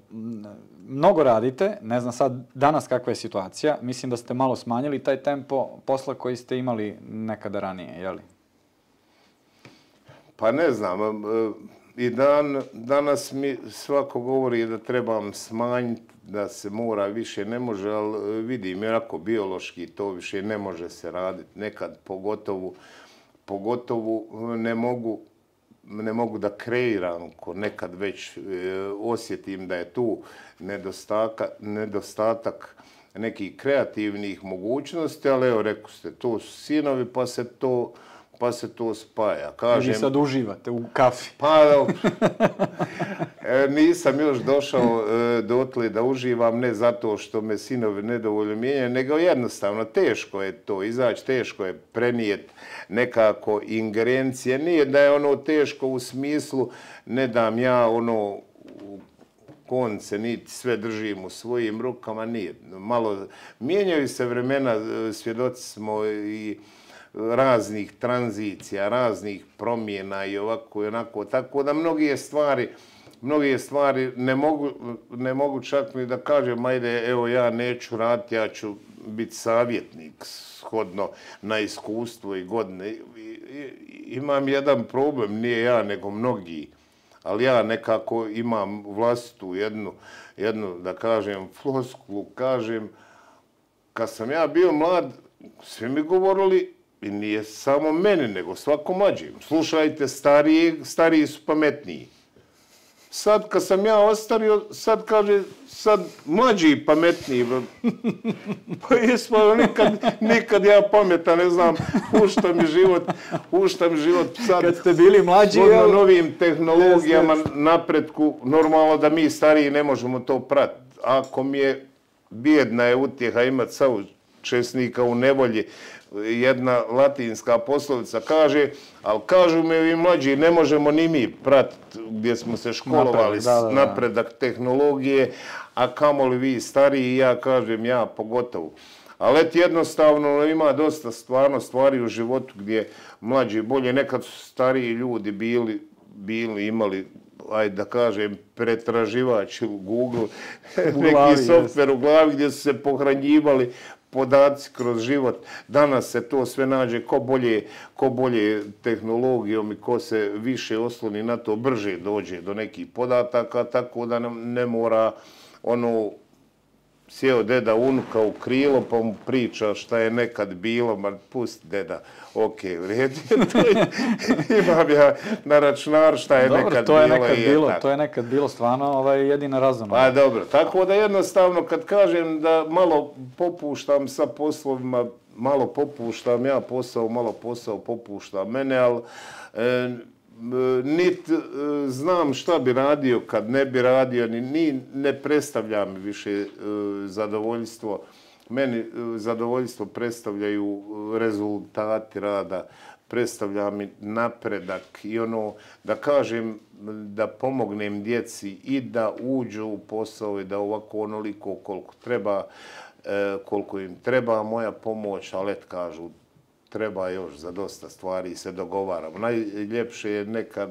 Mnogo radite, ne znam sad danas kakva je situacija, mislim da ste malo smanjili taj tempo posla koji ste imali nekada ranije, je li? Pa ne znam, i dan, danas mi svako govori da trebam smanjiti, da se mora više, ne može, ali vidim, onako biološki to više ne može se raditi, nekad pogotovo pogotovo ne mogu, ne mogu da kreiram, ko nekad već e, osjetim da je tu nedostatak, nedostatak nekih kreativnih mogućnosti, ali evo, rekao ste, to su sinovi, pa se to, pa se to spaja. Kažem, vi sad uživate u kafi. Pa, dobro. E, nisam još došao e, dotle da uživam, ne zato što me sinovi nedovoljno mijenjaju, nego jednostavno teško je to izaći, teško je prenijeti nekako ingerencije. Nije da je ono teško u smislu, ne dam ja ono konce, niti sve držim u svojim rukama, nije. Malo mijenjaju se vremena, svjedoci smo i raznih tranzicija, raznih promjena i ovako i onako, tako da mnoge stvari, mnoge stvari ne mogu, ne mogu čak ni da kažem, ajde, evo ja neću raditi, ja ću biti savjetnik shodno na iskustvo i godine. I, i, imam jedan problem, nije ja, nego mnogi, ali ja nekako imam vlastitu jednu, jednu, da kažem, floskulu, kažem, kad sam ja bio mlad, svi mi govorili, i nije samo meni, nego svako mlađim. Slušajte, stariji, stariji su pametniji. Sad, kad sam ja ostario, sad kaže, sad mlađi pametniji. Pa jesmo, nikad, nikad ja pametan, ne znam, ušta mi život, ušta mi život sad. Kad ste bili mlađi, ja, novim tehnologijama, napretku, normalno da mi stariji ne možemo to pratiti. Ako mi je bijedna je utjeha imati saučesnika u nevolji, jedna latinska poslovica kaže, ali kažu mi vi mlađi, ne možemo ni mi pratiti gdje smo se školovali, napredak, da, da, da. napredak tehnologije, a kamoli vi stariji, ja kažem, ja pogotovo. Ali eto, jednostavno ima dosta stvarno stvari u životu gdje mlađi bolje, nekad su stariji ljudi bili, bili imali, ajde da kažem, pretraživač u Google, u neki glavi, softver u glavi gdje su se pohranjivali podaci kroz život. Danas se to sve nađe ko bolje, ko bolje tehnologijom i ko se više osloni na to, brže dođe do nekih podataka, tako da nam ne mora ono sjeo deda unuka u krilo pa mu priča šta je nekad bilo, ma pusti deda, ok, vredi, imam ja na računaru šta je dobro, nekad to je bilo. Nekad i bilo je to je nekad bilo stvarno ovaj, jedina razum. Pa dobro, tako da jednostavno kad kažem da malo popuštam sa poslovima, malo popuštam ja posao, malo posao popušta mene, ali e, niti e, znam šta bi radio kad ne bi radio, ni, ni ne predstavlja mi više e, zadovoljstvo. Meni e, zadovoljstvo predstavljaju rezultati rada, predstavlja mi napredak i ono, da kažem, da pomognem djeci i da uđu u posao i da ovako onoliko koliko treba, e, koliko im treba moja pomoć, ali et kažu, treba još za dosta stvari i se dogovaramo. Najljepše je nekad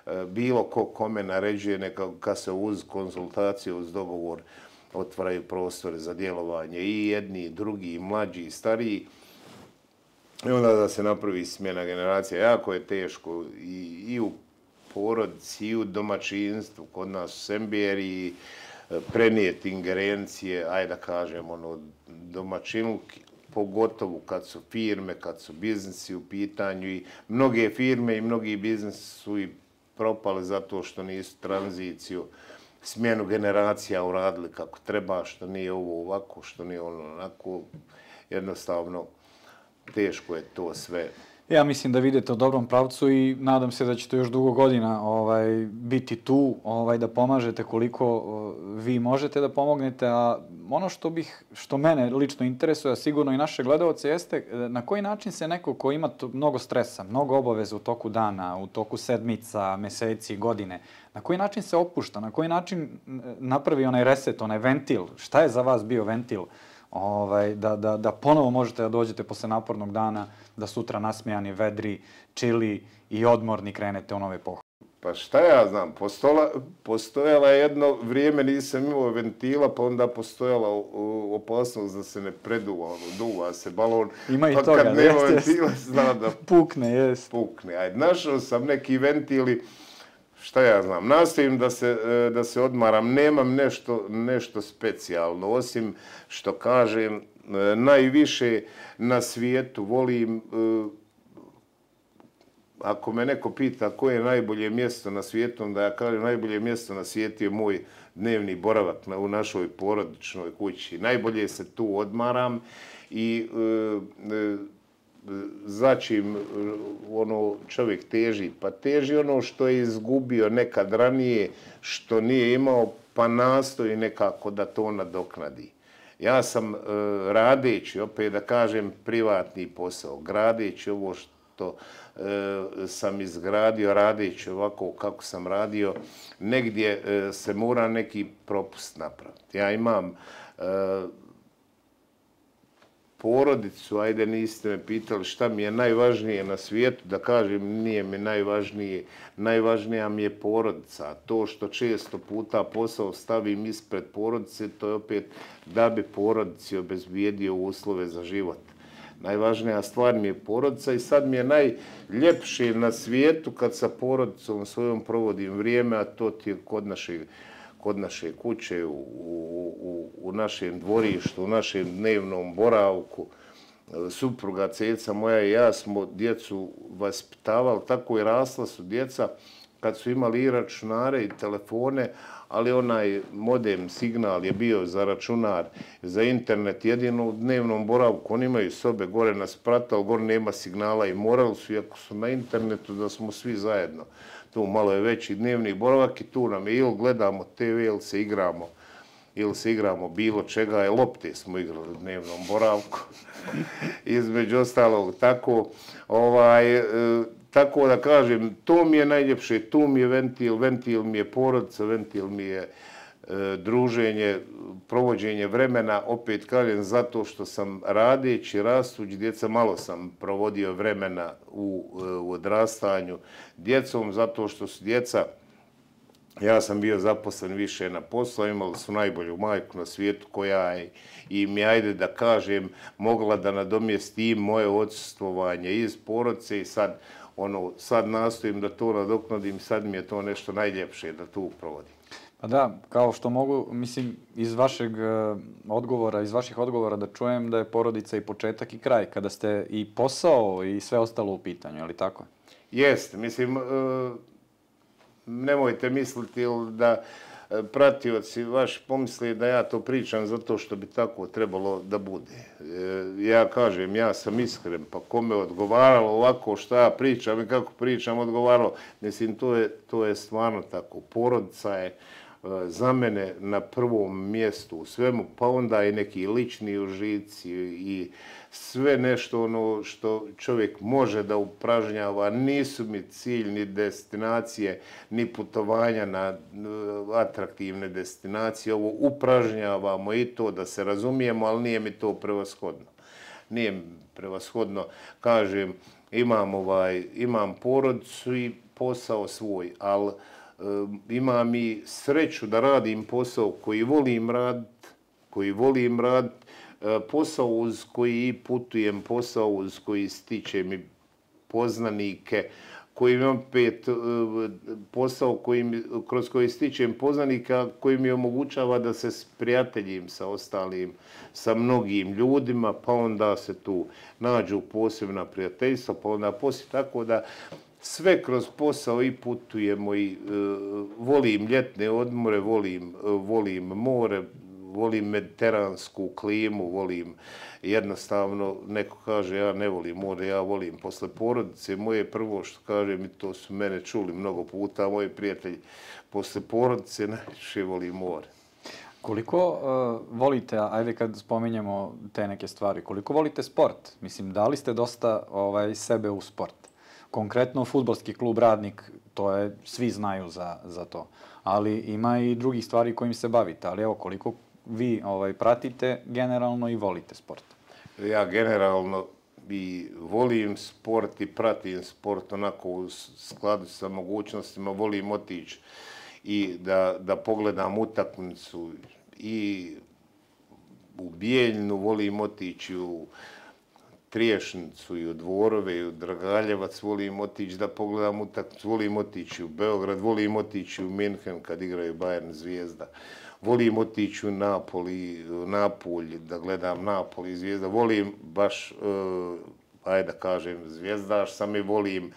e, bilo ko kome naređuje, neka kad se uz konzultaciju, uz dogovor otvaraju prostore za djelovanje i jedni, i drugi, i mlađi, i stariji. I onda da se napravi smjena generacija. Jako je teško i, i u porodici, i u domaćinstvu, kod nas u Semberi, prenijeti ingerencije, ajde da kažem, ono, domaćinluki, pogotovo kad su firme, kad su biznisi u pitanju i mnoge firme i mnogi biznisi su i propali zato što nisu tranziciju, smjenu generacija uradili kako treba, što nije ovo ovako, što nije ono onako, jednostavno teško je to sve. Ja mislim da vidite u dobrom pravcu i nadam se da ćete još dugo godina ovaj, biti tu, ovaj, da pomažete koliko o, vi možete da pomognete, a ono što bih, što mene lično interesuje, a sigurno i naše gledalce, jeste na koji način se neko ko ima mnogo stresa, mnogo obaveza u toku dana, u toku sedmica, meseci, godine, na koji način se opušta, na koji način napravi onaj reset, onaj ventil, šta je za vas bio ventil? Ovaj, da, da, da ponovo možete da dođete posle napornog dana, da sutra nasmijani, vedri, čili i odmorni krenete u nove pohode. Pa šta ja znam, postola, postojala je jedno vrijeme, nisam imao ventila, pa onda postojala opasnost da se ne preduva, ono, duva se balon. Ima i pa toga, kad nema jest, ventila, zna da pukne, jest. Pukne. Ajde, našao sam neki ventili, šta ja znam, nastojim da se, da se odmaram, nemam nešto, nešto specijalno, osim što kažem, najviše na svijetu volim ako me neko pita koje je najbolje mjesto na svijetu, onda ja kažem najbolje mjesto na svijetu je moj dnevni boravak u našoj porodičnoj kući. Najbolje se tu odmaram i za čim ono čovjek teži? Pa teži ono što je izgubio nekad ranije, što nije imao, pa nastoji nekako da to nadoknadi. Ja sam radeći, opet da kažem, privatni posao, gradeći ovo što sam izgradio, radeći ovako kako sam radio, negdje se mora neki propust napraviti. Ja imam porodicu, ajde niste me pitali šta mi je najvažnije na svijetu, da kažem nije mi najvažnije, najvažnija mi je porodica. A to što često puta posao stavim ispred porodice, to je opet da bi porodici obezbijedio uslove za život. Najvažnija stvar mi je porodica i sad mi je najljepše na svijetu kad sa porodicom svojom provodim vrijeme, a to ti je kod našeg kod naše kuće, u, u, u našem dvorištu, u našem dnevnom boravku. Supruga, ceca moja i ja smo djecu vaspitavali, tako i rasla su djeca kad su imali i računare i telefone, ali onaj modem signal je bio za računar, za internet, jedino u dnevnom boravku. Oni imaju sobe gore na spratu, ali gore nema signala i morali su, iako su na internetu, da smo svi zajedno. Tu malo je veći dnevni boravak i tu nam je ili gledamo te ve ili se igramo, ili se igramo bilo čega, je lopte smo igrali u dnevnom boravku. Između ostalog, tako, ovaj, e, tako da kažem, to mi je najljepše, tu mi je ventil, ventil mi je porodica, ventil mi je e, druženje, provođenje vremena, opet kažem, zato što sam radeći, rastući djeca, malo sam provodio vremena u, u odrastanju djecom, zato što su djeca, ja sam bio zaposlen više na poslu, imali su najbolju majku na svijetu koja im je, ajde da kažem, mogla da nadomjesti i moje odsustvovanje iz porodice i sad, ono, sad nastojim da to nadoknadim, sad mi je to nešto najljepše da tu provodim. Pa da, kao što mogu, mislim, iz vašeg odgovora, iz vaših odgovora da čujem da je porodica i početak i kraj, kada ste i posao i sve ostalo u pitanju, je li tako? Jeste, mislim, nemojte misliti da pratioci vaši pomisli da ja to pričam zato što bi tako trebalo da bude. Ja kažem, ja sam iskren, pa kome odgovaralo ovako što ja pričam i kako pričam odgovaralo, mislim, to je, to je stvarno tako. Porodica je za mene na prvom mjestu u svemu, pa onda i neki lični užici i sve nešto ono što čovjek može da upražnjava. Nisu mi cilj ni destinacije, ni putovanja na atraktivne destinacije. Ovo upražnjavamo i to da se razumijemo, ali nije mi to prevashodno. Nije mi prevashodno, kažem, imam, ovaj, imam porodicu i posao svoj, ali imam i sreću da radim posao koji volim raditi, koji volim raditi, posao uz koji putujem, posao uz koji stičem i poznanike, koji imam pet, posao koji, kroz koji stičem poznanika, koji mi omogućava da se sprijateljim sa ostalim, sa mnogim ljudima, pa onda se tu nađu posebna prijateljstva, pa onda poslije, tako da sve kroz posao i putujemo i uh, volim ljetne odmore, volim, uh, volim more, volim mediteransku klimu, volim jednostavno, neko kaže ja ne volim more, ja volim posle porodice. Moje prvo što kažem, i to su mene čuli mnogo puta, moji prijatelji, posle porodice najviše volim more. Koliko uh, volite, ajde kad spominjemo te neke stvari, koliko volite sport? Mislim, dali ste dosta ovaj, sebe u sport. Konkretno, fudbalski klub Radnik, to je, svi znaju za, za to. Ali ima i drugih stvari kojim se bavite. Ali evo, koliko vi ovaj, pratite generalno i volite sport? Ja generalno i volim sport i pratim sport onako u skladu sa mogućnostima. Volim otići i da, da pogledam utakmicu i u Bijeljinu, volim otići u Triješnicu i u Dvorove i u Dragaljevac, volim otići da pogledam utakmicu, volim otići u Beograd, volim otići u Minhen kad igraju Bayern Zvijezda, volim otići u Napoli, u Napulj da gledam Napoli Zvijezda, volim baš uh, ajde da kažem, zvijezdaš sam i volim,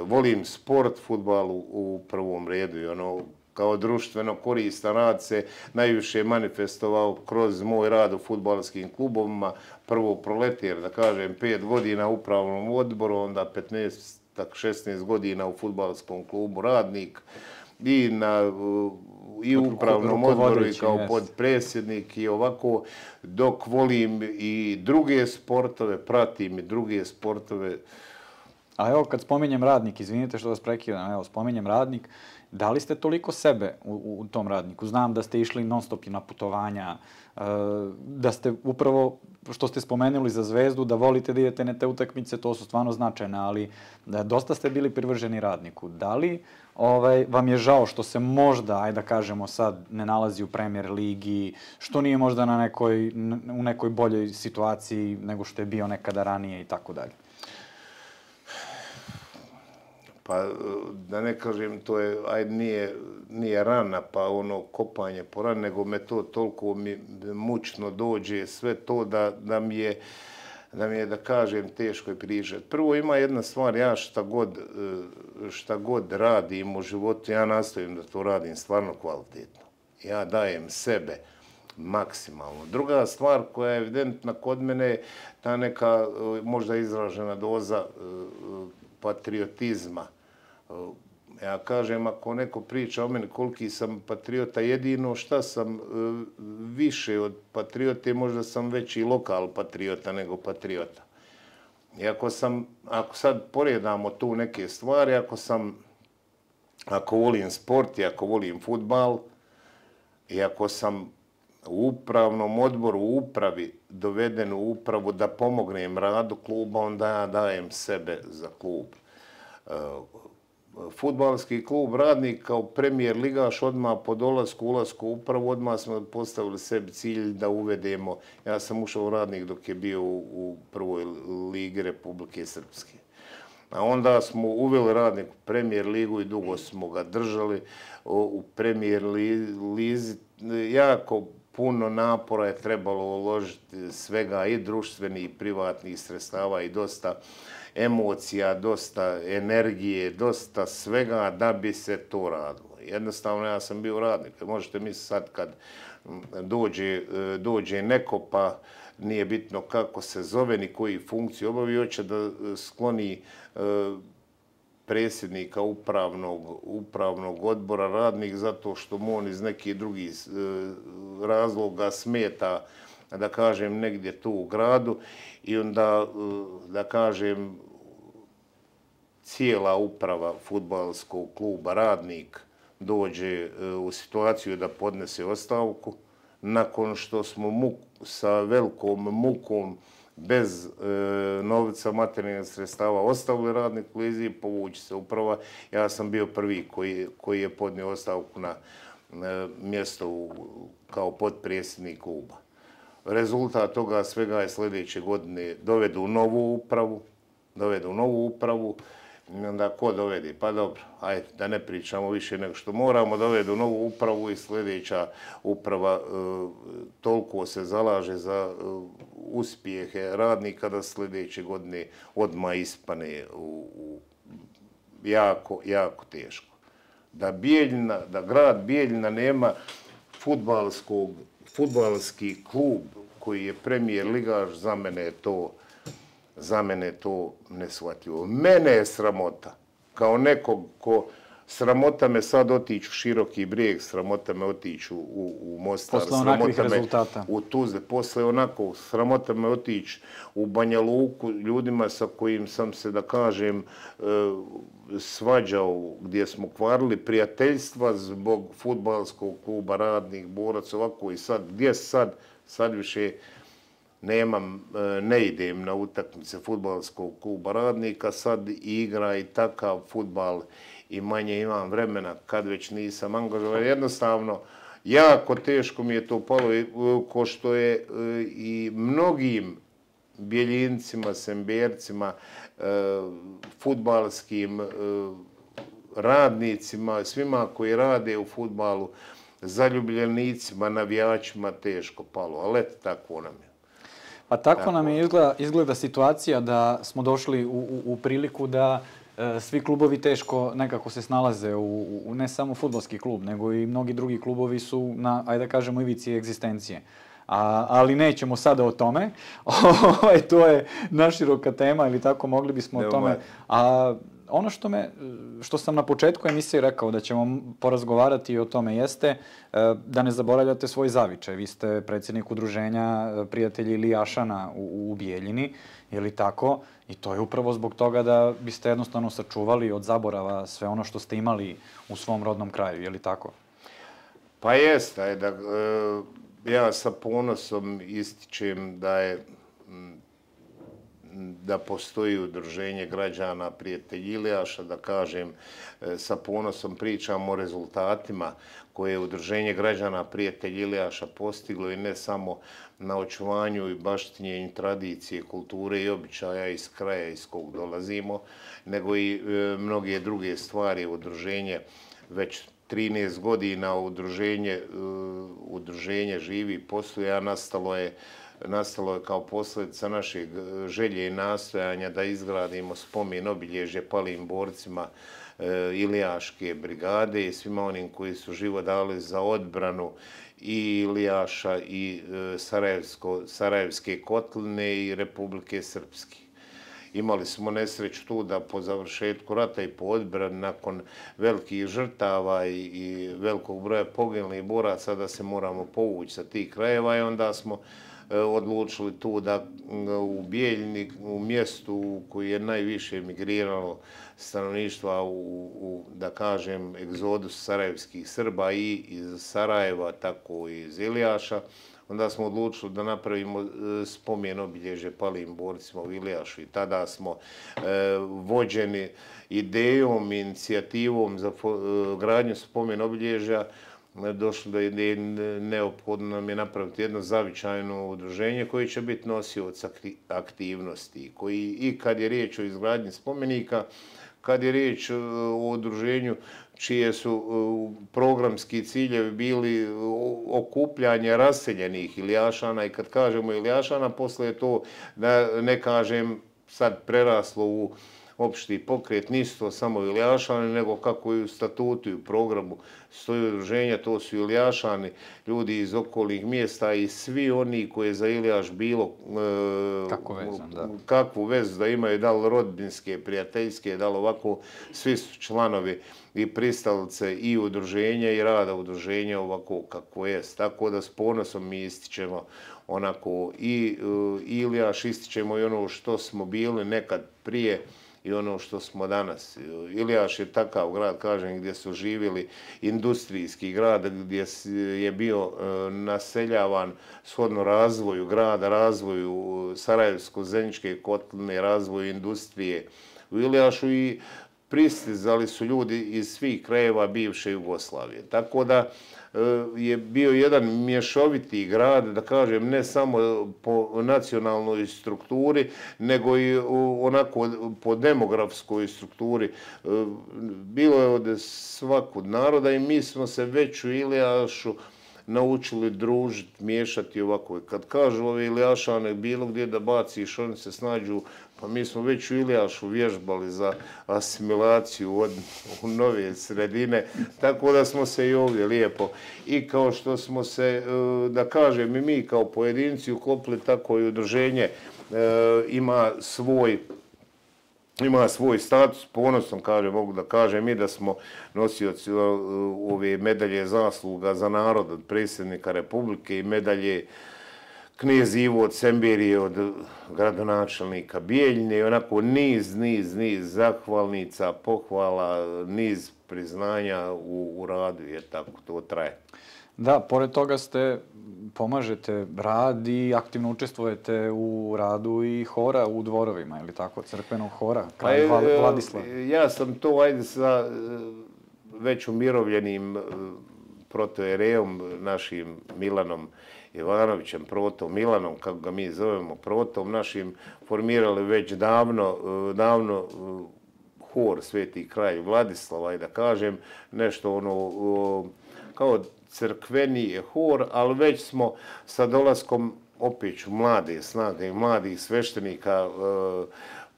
volim sport, fudbal u prvom redu i ono, kao društveno koristan rad se najviše manifestovao kroz moj rad u fudbalskim klubovima. Prvo Proletir, da kažem, pet godina u upravnom odboru, onda petnaest, šesnaest godina u fudbalskom klubu Radnik i na i u upravnom odboru i kao podpredsjednik i ovako, dok volim i druge sportove, pratim i druge sportove. A evo, kad spominjem Radnik, izvinite što vas prekidam, evo, spominjem Radnik, da li ste toliko sebe u, u tom Radniku? Znam da ste išli non stop na putovanja, da ste upravo, što ste spomenuli za Zvezdu, da volite da idete na te utakmice, to su stvarno značajne, ali da dosta ste bili privrženi Radniku. Da li ovaj, vam je žao što se možda, ajde da kažemo sad, ne nalazi u Premier ligi, što nije možda na nekoj, u nekoj boljoj situaciji nego što je bio nekada ranije i tako dalje? Pa da ne kažem, to je, ajde, nije, nije rana, pa ono kopanje po rani, nego me to toliko mi mučno dođe, sve to da, da mi je, da mi je, da kažem, teško je pričati. Prvo ima jedna stvar, ja šta god, šta god radim u životu, ja nastavim da to radim stvarno kvalitetno. Ja dajem sebe maksimalno. Druga stvar koja je evidentna kod mene, ta neka možda izražena doza patriotizma. Ja kažem, ako neko priča o meni koliki sam patriota, jedino šta sam više od patriote, možda sam veći lokal patriota nego patriota. I ako sam, ako sad poredamo tu neke stvari, ako sam, ako volim sport i ako volim fudbal, i ako sam u upravnom odboru, u upravi, doveden u upravu da pomognem radu kluba, onda ja dajem sebe za klub. Fudbalski klub Radnik kao premijer ligaš odmah po dolasku, ulasku u upravu, odmah smo postavili sebi cilj da uvedemo. Ja sam ušao u Radnik dok je bio u prvoj ligi Republike Srpske. A onda smo uveli Radnik u premijer ligu i dugo smo ga držali u premijer lizi. Jako puno napora je trebalo uložiti, svega i društvenih i privatnih sredstava i dosta emocija, dosta energije, dosta svega da bi se to radilo. Jednostavno ja sam bio radnik. Možete misliti sad kad dođe, dođe neko pa nije bitno kako se zove ni koji funkciju obavi, hoće da skloni predsjednika upravnog, upravnog odbora Radnik zato što mu on iz nekih drugih razloga smeta, da kažem, negdje tu u gradu i onda, da kažem, cijela uprava fudbalskog kluba Radnik dođe u situaciju da podnese ostavku nakon što smo muk, sa velikom mukom bez e, novca materijalnih sredstava ostavili Radnik u lizi, povući se uprava. Ja sam bio prvi koji, koji je podnio ostavku na e, mjesto u, kao potpredsjednik kluba. Rezultat toga svega je sljedeće godine dovedu novu upravu, dovedu novu upravu, onda ko dovedi? Pa dobro, ajde, da ne pričamo više nego što moramo, dovedu novu upravu i sljedeća uprava e, toliko se zalaže za e, uspjehe Radnika da sljedeće godine odmah ispane u, u jako, jako teško. Da Bijeljina, da grad Bijeljina nema fudbalskog, fudbalski klub koji je premijer ligaš, za mene je to Za mene je to neshvatljivo. Mene je sramota. Kao nekog ko sramota me sad otići u Široki Brijeg, sramota me otići u, u Mostar, posle onakvih rezultata. U Tuzle. Posle onako, sramota me otići u Banja Luku ljudima sa kojim sam se, da kažem, svađao, gdje smo kvarili prijateljstva zbog fudbalskog kluba Radnik, Borac, ovako i sad. Gdje sad? Sad više nemam, ne idem na utakmice fudbalskog kluba Radnika, sad igra i takav fudbal i manje imam vremena kad već nisam angažovan. Jednostavno, jako teško mi je to palo, ko što je i mnogim Bjeljincima, Sembercima, fudbalskim radnicima, svima koji rade u fudbalu, zaljubljenicima, navijačima teško palo, ali eto, tako nam je. Pa tako nam je izgleda, izgleda situacija da smo došli u, u, u priliku da e, svi klubovi teško nekako se snalaze u, u ne samo fudbalski klub, nego i mnogi drugi klubovi su na, ajde da kažemo, ivici egzistencije. A, ali nećemo sada o tome. To je naširoka tema ili tako, mogli bismo o tome. A ono što, me, što sam na početku emisije rekao da ćemo porazgovarati o tome jeste da ne zaboravljate svoj zavičaj. Vi ste predsjednik udruženja prijatelji Ilijašana u, u Bijeljini, je li tako? I to je upravo zbog toga da biste jednostavno sačuvali od zaborava sve ono što ste imali u svom rodnom kraju, je li tako? Pa jeste, da, ja sa ponosom ističem da je da postoji udruženje građana prijatelji Ilijaša, da kažem, sa ponosom pričam o rezultatima koje je udruženje građana prijatelji Ilijaša postiglo i ne samo na očuvanju i baštinjenju tradicije, kulture i običaja iz kraja iz kog dolazimo, nego i e, mnoge druge stvari. Udruženje već trinaest godina udruženje, uh, udruženje živi i posluje, a nastalo je, nastalo je kao posljedica našeg želje i nastojanja da izgradimo spomen obilježje palim borcima uh, Ilijaške brigade i svima onim koji su život dali za odbranu i Ilijaša i uh, Sarajevsko, Sarajevske kotline i Republike Srpske. Imali smo nesreću tu da po završetku rata i po odbrani nakon velikih žrtava i, i velikog broja poginulih boraca da se moramo povući sa tih krajeva i onda smo e, odlučili tu da u Bijeljini, u mjestu u koji je najviše emigriralo stanovništva u, u, da kažem, egzodus sarajevskih Srba i iz Sarajeva, tako i iz Ilijaša, onda smo odlučili da napravimo spomen obilježje palim borcima u Ilijašu i tada smo e, vođeni idejom, inicijativom za fo, e, gradnju spomen obilježja došli do ideje, neophodno nam je napraviti jedno zavičajno udruženje koje će biti nosioc aktivnosti, koji i kad je riječ o izgradnji spomenika, kad je riječ o udruženju čije su programski ciljevi bili okupljanje raseljenih Ilijašana i kad kažemo Ilijašana, posle je to, da ne kažem, sad preraslo u opšti pokret, nisu to samo Ilijašani, nego kako i u statutu i u programu stoji udruženja, to su Ilijašani, ljudi iz okolnih mjesta i svi oni koji je za Ilijaš bilo e, Kako vezan, da. kakvu vezu da imaju, da li rodbinske, prijateljske, da li ovako, svi su članovi i pristalice i udruženja i rada udruženja ovako kako je. Tako da s ponosom mi ističemo onako i uh, Ilijaš, ističemo i ono što smo bili nekad prije i ono što smo danas. Ilijaš je takav grad, kažem, gdje su živjeli industrijski grad, gdje je bio uh, naseljavan shodno razvoju grada, razvoju Sarajevsko-Zeničke kotline, razvoju industrije u Ilijašu i pristizali su ljudi iz svih krajeva bivše Jugoslavije. Tako da je bio jedan mješoviti grad, da kažem, ne samo po nacionalnoj strukturi, nego i onako po demografskoj strukturi. Bilo je od svakog naroda i mi smo se već u Ilijašu naučili družiti, miješati ovako. Kad kažu ove Ilijašane bilo gdje da baciš, oni se snađu, pa mi smo već u Ilijašu vježbali za asimilaciju od, u nove sredine, tako da smo se i ovdje lijepo. I kao što smo se, da kažem, i mi kao pojedinci uklopili, tako i udruženje ima svoj ima svoj status, ponosom kažem, mogu da kažem i da smo nosioci ove medalje zasluga za narod od predsjednika Republike i medalje knez Ivo od Semberije, od gradonačelnika Bijeljine i onako niz, niz, niz zahvalnica, pohvala, niz priznanja u, u radu, je tako, to traje. Da, pored toga ste, pomažete rad i aktivno učestvujete u radu i hora u dvorovima, ili tako, crkvenog hora, kraj pa, Vladislava. Ja sam to, ajde, sa već umirovljenim protoerejom, našim Milanom Ivanovićem, protom Milanom, kako ga mi zovemo, protom našim, formirali već davno, davno hor Sveti kralj Vladislava i da kažem nešto ono kao crkveni hor, ali već smo sa dolaskom opet ću mlade snage i mladih sveštenika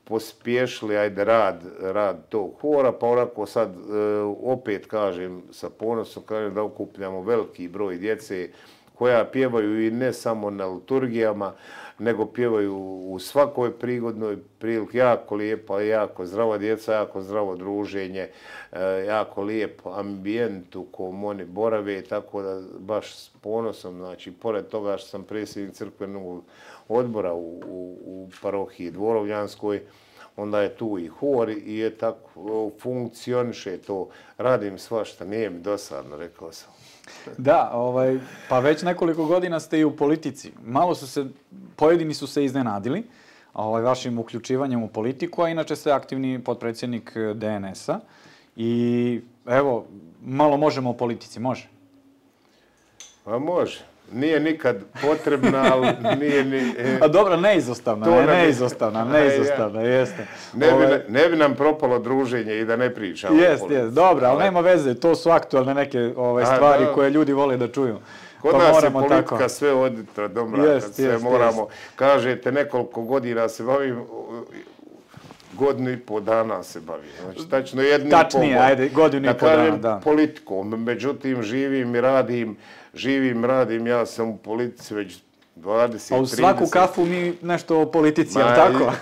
pospješili, ajde, rad, rad tog hora, pa onako sad opet kažem, sa ponosom kažem da okupljamo veliki broj djece koja pjevaju i ne samo na liturgijama, nego pjevaju u svakoj prigodnoj prilici. Jako lijepa, jako zdrava djeca, jako zdravo druženje, jako lijep ambijent u kom oni borave, tako da baš s ponosom, znači, pored toga što sam predsjednik crkvenog odbora u, u, u parohiji Dvorovljanskoj, onda je tu i hor i je tako, funkcioniše to. Radim svašta, nije mi dosadno, rekao sam. Da, ovaj, pa već nekoliko godina ste i u politici. Malo su se, pojedini su se iznenadili ovaj, vašim uključivanjem u politiku, a inače ste aktivni potpredsjednik D N S-a. I evo, malo možemo o politici, može? Pa može. Nije nikad potrebna, ali nije ni... E, a dobro, neizostavna, ne, neizostavna, neizostavna, jeste. Ne bi, Ove... ne bi nam propalo druženje i da ne pričamo. Jest, jest, dobro, ali nema veze, to su aktualne neke ove, stvari a, koje ljudi vole da čuju. Kod pa nas je politika tako. Sve oditra do mraka, jest, sve jest, moramo, jest. Kažete, nekoliko godina se bavim, godinu i po dana se bavim. Znači, tačno jednu Tačnije, i po, ajde, godinu i po dana, da. Politikom, međutim, živim i radim, živim, radim, ja sam u politici već dvadeset, trideset. A u svaku kafu mi nešto o politici, je li tako?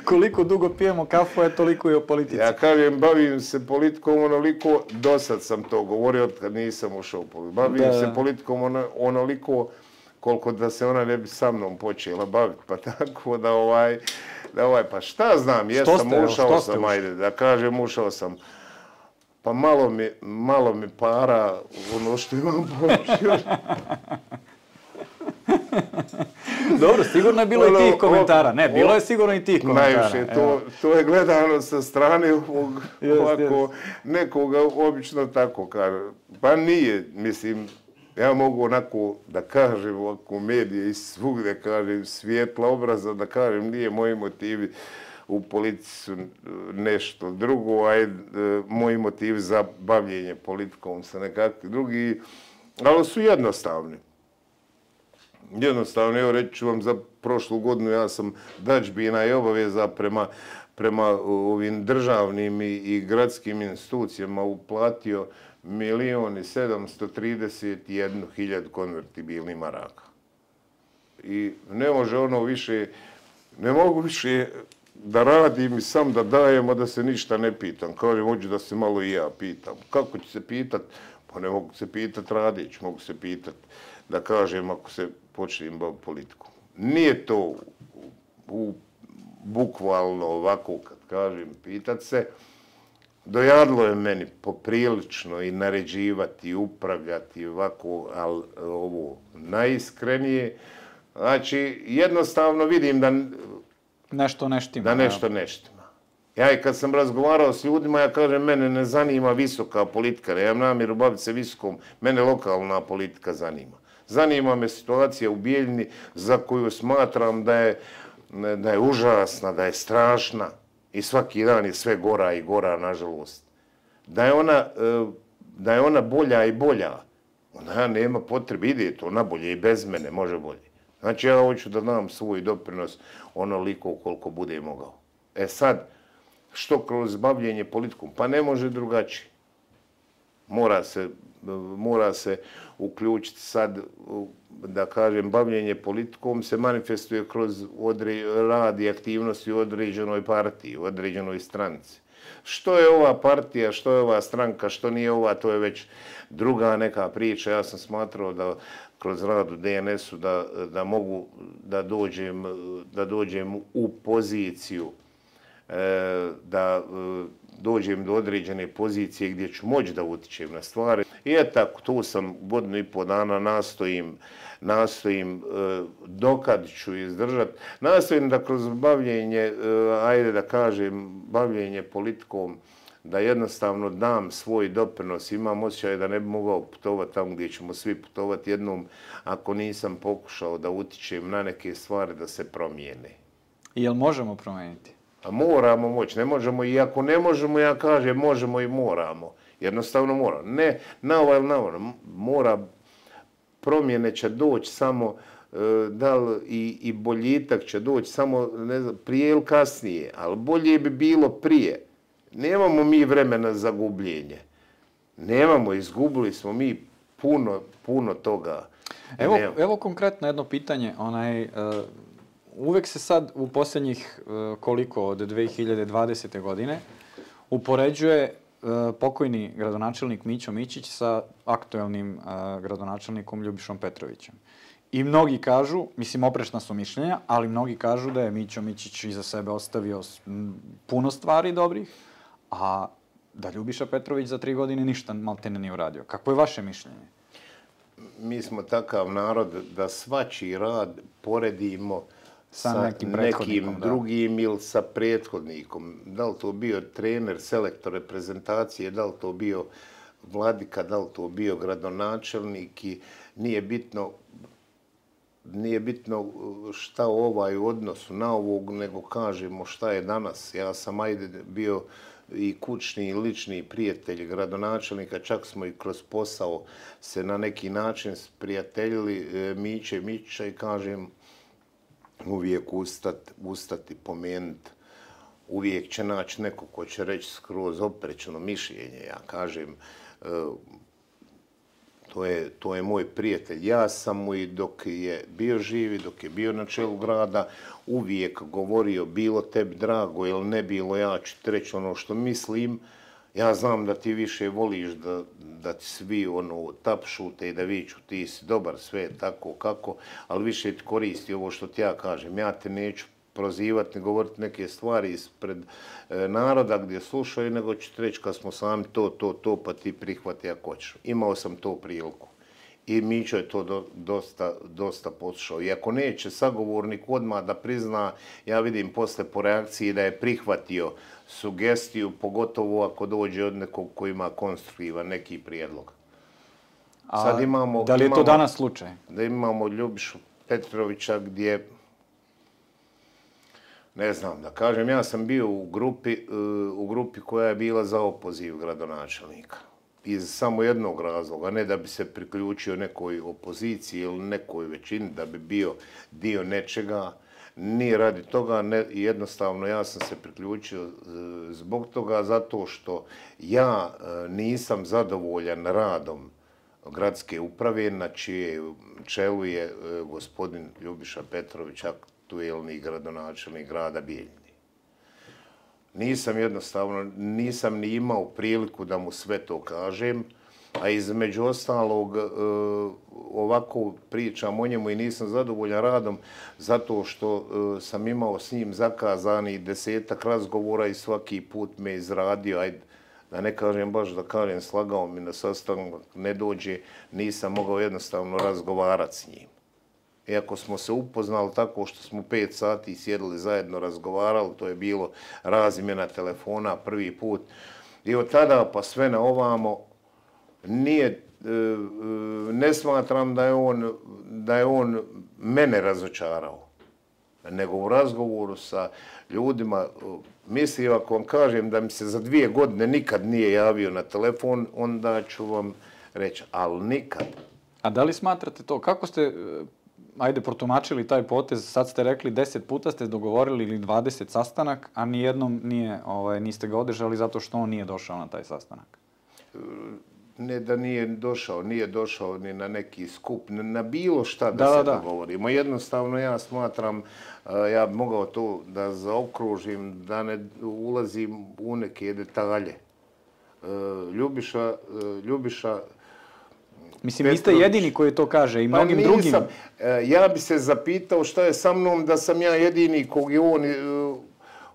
Koliko dugo pijemo kafu je toliko i o politici. Ja kažem, bavim se politikom onoliko, dosad sam to govorio kad nisam ušao u politiku. Bavim da. se politikom ono, onoliko koliko da se ona ne bi sa mnom počela baviti. Pa tako da ovaj, da ovaj, pa šta znam, jesam, ste, ušao sam, ušao? Ajde, da kažem, ušao sam. Pa malo mi, malo mi para ono što imam pomoći. Dobro, sigurno je bilo ono, i tih komentara. Ne, bilo je sigurno i tih komentara. Najviše, to, to je gledano sa strane ovog, jest, ovako, jest. Nekoga obično tako kaže. Pa nije, mislim, ja mogu onako da kažem ovako medije i svugde kažem svijetla obraza, da kažem nije moji motivi u politici su nešto drugo, a moji motivi za bavljenje politikom su nekakvi drugi, ali su jednostavni. Jednostavno, evo reći ću vam za prošlu godinu, ja sam dađbina i obaveza prema, prema ovim državnim i, i gradskim institucijama uplatio milion i sedamsto trideset jednu hiljadu konvertibilnih maraka. I ne može ono više, ne mogu više da radim i sam da dajem, a da se ništa ne pitam. Kažem, hoću da se malo i ja pitam. Kako ću se pitat? Pa ne mogu se pitat radić, mogu se pitat da kažem ako se počnem baviti politikom. Nije to u, u, bukvalno ovako kad kažem pitat se. Dojadlo je meni poprilično i naređivati, i upravljati ovako, ali ovo najiskrenije. Znači, jednostavno vidim da nešto neštima. Da nešto neštima. Ja i kad sam razgovarao s ljudima, ja kažem, mene ne zanima visoka politika, ja imam namjeru baviti se visokom, mene lokalna politika zanima. Zanima me situacija u Bijeljini za koju smatram da je, da je užasna, da je strašna i svaki dan je sve gora i gora, nažalost. Da je ona, da je ona bolja i bolja, onda nema potrebe, ide to na bolje i bez mene, može bolje. Znači ja hoću da dam svoj doprinos onoliko koliko bude mogao. E sad, što kroz bavljenje politikom? Pa ne može drugačije. Mora se, mora se uključiti sad, da kažem, bavljenje politikom se manifestuje kroz odre, rad i aktivnosti u određenoj partiji, u određenoj stranci. Što je ova partija, što je ova stranka, što nije ova, to je već druga neka priča. Ja sam smatrao da kroz rad u D N S-u da, da mogu da dođem, da dođem u poziciju, da dođem do određene pozicije gdje ću moći da utičem na stvari. I eto, tu sam godinu i po dana nastojim, nastojim dokad ću izdržati. Nastojim da kroz bavljenje, ajde da kažem, bavljenje politikom, da jednostavno dam svoj doprinos. Imam osjećaj da ne bi mogao putovati tamo gdje ćemo svi putovati jednom ako nisam pokušao da utičem na neke stvari da se promijene. I jel možemo promijeniti? A moramo moći, ne možemo i ako ne možemo, ja kažem možemo i moramo. Jednostavno moramo. Ne na ovaj ili na ovaj. Mora, promjene će doći samo da li i, i boljitak će doći samo ne znam, prije ili kasnije, ali bolje bi bilo prije. Nemamo mi vremena za gubljenje. Nemamo, izgubili smo mi puno, puno toga. Evo, evo konkretno jedno pitanje. Onaj, uh, uvek se sad u posljednjih uh, koliko od dve hiljade dvadesete. godine upoređuje uh, pokojni gradonačelnik Mićo Mićić sa aktuelnim uh, gradonačelnikom Ljubišom Petrovićem. I mnogi kažu, mislim oprečna su mišljenja, ali mnogi kažu da je Mićo Mićić iza sebe ostavio puno stvari dobrih, a da Ljubiša Petrović za tri godine ništa maltene nije uradio. Kako je vaše mišljenje? Mi smo takav narod da svačiji rad poredimo sa, sa nekim, nekim drugim ili sa prethodnikom. Da li to bio trener, selektor reprezentacije, da li to bio vladika, da li to bio gradonačelnik i nije bitno Nije bitno šta ovaj u odnosu na ovog, nego kažemo šta je danas. Ja sam ajde bio i kućni i lični prijatelj gradonačelnika, čak smo i kroz posao se na neki način sprijateljili Miće Mića i kažem uvijek ustati, ustati pomenuti. Uvijek će naći neko ko će reći skroz oprečno mišljenje. Ja kažem, To je, to je moj prijatelj. Ja sam mu i dok je bio živi, dok je bio na čelu grada, uvijek govorio bilo tebi drago ili ne bilo, ja ću ti reći ono što mislim. Ja znam da ti više voliš da, da ti svi ono tapšute i da viču ti si dobar, sve tako kako, ali više ti koristi ovo što ti ja kažem. Ja te neću prozivati, ne govoriti neke stvari ispred e, naroda gdje slušaju, nego ću ti reći kad smo sami to, to, to, pa ti prihvati ako hoćeš. Imao sam to priliku. I Mićo je to do, dosta, dosta poslušao. I ako neće sagovornik odmah da prizna, ja vidim posle po reakciji da je prihvatio sugestiju, pogotovo ako dođe od nekog ko ima konstruktivan neki prijedlog. A sad imamo, da li je to imamo, danas slučaj? Da imamo Ljubišu Petrovića gdje ne znam, da kažem, ja sam bio u grupi, u grupi koja je bila za opoziv gradonačelnika. Iz samo jednog razloga, ne da bi se priključio nekoj opoziciji ili nekoj većini, da bi bio dio nečega. Nije radi toga, ne, jednostavno ja sam se priključio zbog toga, zato što ja nisam zadovoljan radom gradske uprave, na čije čelu je gospodin Ljubiša Petrović, aktuelni gradonačelnik grada Bijeljine. Nisam jednostavno, nisam ni imao priliku da mu sve to kažem, a između ostalog ovako pričam o njemu i nisam zadovoljan radom zato što sam imao s njim zakazani desetak razgovora i svaki put me izradio, ajde, da ne kažem baš da kažem, slagao mi na sastanak, ne dođe, nisam mogao jednostavno razgovarati s njim. Iako smo se upoznali tako što smo pet sati sjedili zajedno, razgovarali, to je bilo razmjena telefona prvi put. I od tada pa sve na ovamo nije, ne smatram da je on, da je on mene razočarao, nego u razgovoru sa ljudima, mislim, ako vam kažem da mi se za dvije godine nikad nije javio na telefon, onda ću vam reći, ali nikad. A da li smatrate to? Kako ste, ajde, protumačili taj potez? Sad ste rekli deset puta ste dogovorili ili dvadeset sastanak, a nijednom nije, ovaj, niste ga održali zato što on nije došao na taj sastanak. Ne da nije došao, nije došao ni na neki skup, na bilo šta da, da se da. dogovorimo. Jednostavno ja smatram, ja bi mogao to da zaokružim, da ne ulazim u neke detalje. Ljubiša, Ljubiša Mislim, niste jedini koji to kaže i mnogim pa drugim. Ja bi se zapitao šta je sa mnom da sam ja jedini kog je on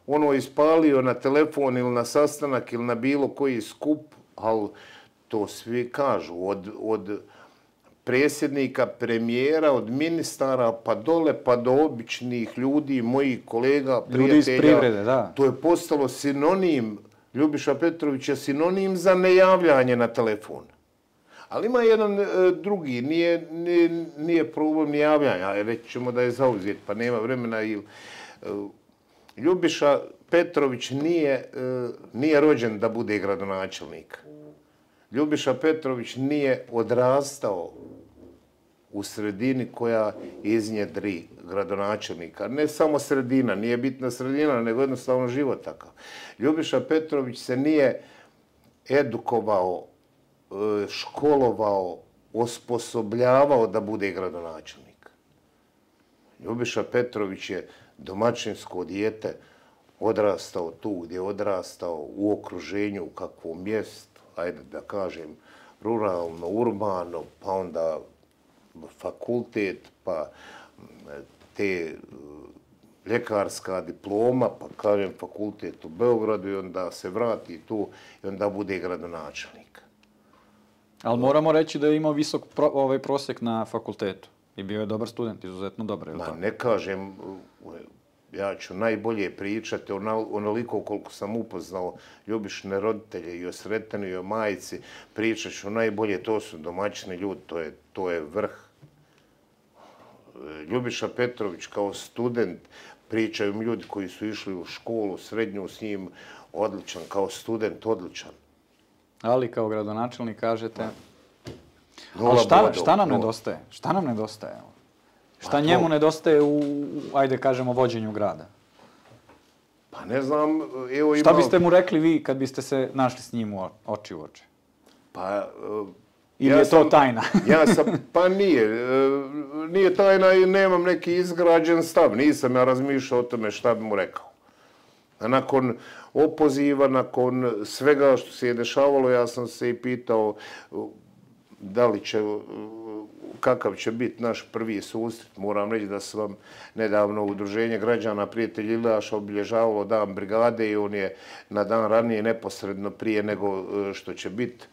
ono ispalio na telefon ili na sastanak ili na bilo koji skup, ali to svi kažu, od, od predsjednika, premijera, od ministara, pa dole, pa do običnih ljudi, mojih kolega, prijatelja. Ljudi iz privrede, da. To je postalo sinonim, Ljubiša Petrović je sinonim za nejavljanje na telefon. Ali ima jedan e, drugi, nije, nije, nije problem ni javljanja, reći ćemo da je zauzet, pa nema vremena. Ili, e, Ljubiša Petrović nije, e, nije rođen da bude gradonačelnik. Ljubiša Petrović nije odrastao u sredini koja iznjedri gradonačelnika. Ne samo sredina, nije bitna sredina, nego jednostavno život takav. Ljubiša Petrović se nije edukovao, školovao, osposobljavao da bude gradonačelnik. Ljubiša Petrović je domaćinsko dijete, odrastao tu gdje je odrastao, u okruženju, u kakvom mjestu, ajde da kažem, ruralno, urbano, pa onda fakultet, pa te ljekarska diploma, pa kažem fakultet u Beogradu i onda se vrati tu i onda bude gradonačelnik. Ali moramo reći da je imao visok pro, ovaj prosjek na fakultetu i bio je dobar student, izuzetno dobar. Ma ne kažem, ja ću najbolje pričati onoliko koliko sam upoznao Ljubišine roditelje i o Sretenu i o majici, pričat ću najbolje, to su domaćini ljudi, to je, to je vrh. Ljubiša Petrović kao student, pričaju mi ljudi koji su išli u školu, srednju s njim, odličan, kao student odličan. Ali kao gradonačelnik kažete... Ali šta, šta nam nedostaje? Šta nam nedostaje? Šta njemu nedostaje u, ajde kažemo, vođenju grada? Pa ne znam, evo ima... Šta biste mu rekli vi kad biste se našli s njim u oči u oči? Pa... Ili je to tajna? Ja sam, pa nije. Nije tajna i nemam neki izgrađen stav. Nisam ja razmišljao o tome šta bi mu rekao. A nakon opoziva, nakon svega što se je dešavalo, ja sam se i pitao da li će, kakav će biti naš prvi susret. Moram reći da sam vam nedavno Udruženje građana Prijatelj Iljaša obilježavalo dan brigade i on je na dan ranije neposredno prije nego što će biti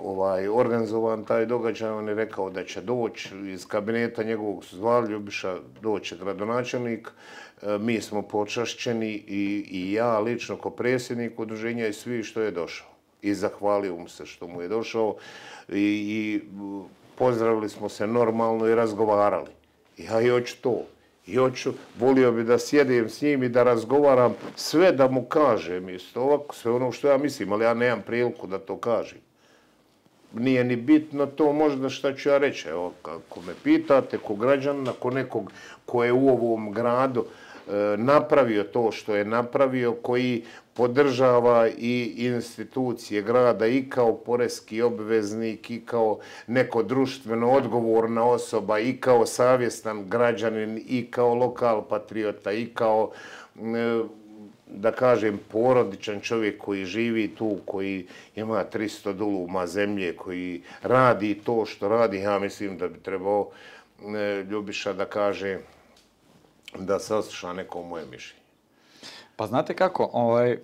ovaj, organizovan taj događaj. On je rekao da će doći iz kabineta njegovog su zvali Ljubiša, doći gradonačelnik. Mi smo počašćeni i, i ja lično kao predsjednik udruženja i svi što je došao. I zahvalio mu se što mu je došao i, i pozdravili smo se normalno i razgovarali. Ja i hoću to. I hoću, volio bi da sjedim s njim i da razgovaram sve da mu kažem isto ovako, sve ono što ja mislim, ali ja nemam priliku da to kažem. Nije ni bitno to možda šta ću ja reći. Evo, ako me pitate, ko građan, ako nekog ko je u ovom gradu e, napravio to što je napravio, koji podržava i institucije grada i kao poreski obveznik, i kao neko društveno odgovorna osoba, i kao savjestan građanin, i kao lokal patriota, i kao e, da kažem, porodičan čovjek koji živi tu, koji ima tristo duluma zemlje, koji radi to što radi, ja mislim da bi trebao e, Ljubiša da kaže da sasluša neko moje mišljenje. Pa znate kako, ovaj, e,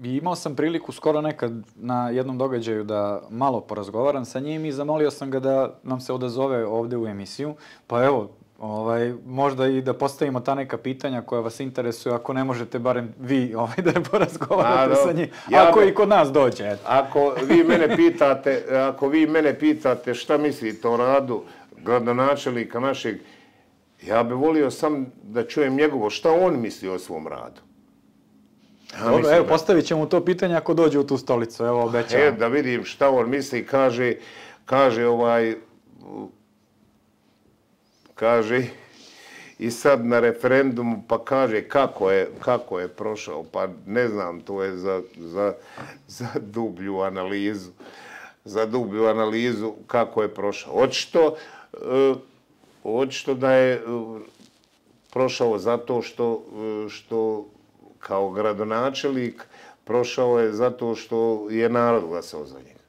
imao sam priliku skoro nekad na jednom događaju da malo porazgovaram sa njim i zamolio sam ga da nam se odazove ovdje u emisiju, pa evo, Ovaj, možda i da postavimo ta neka pitanja koja vas interesuju, ako ne možete barem vi ovaj, da porazgovarate sa njim, ja ako be, i kod nas dođe. Eto. Ako vi mene pitate, ako vi mene pitate šta mislite o radu gradonačelnika našeg, ja bih volio sam da čujem njegovo šta on misli o svom radu. Ja Dobro, evo, da... postavit ćemo to pitanje ako dođe u tu stolicu, evo obećavam. E, da vidim šta on misli, kaže, kaže ovaj... Kaže, i sad na referendumu, pa kaže kako je, kako je prošao, pa ne znam, to je za, za, za dublju analizu, za dublju analizu kako je prošao. Očito, očito da je prošao zato što, što kao gradonačelnik prošao je zato što je narod glasao za njega.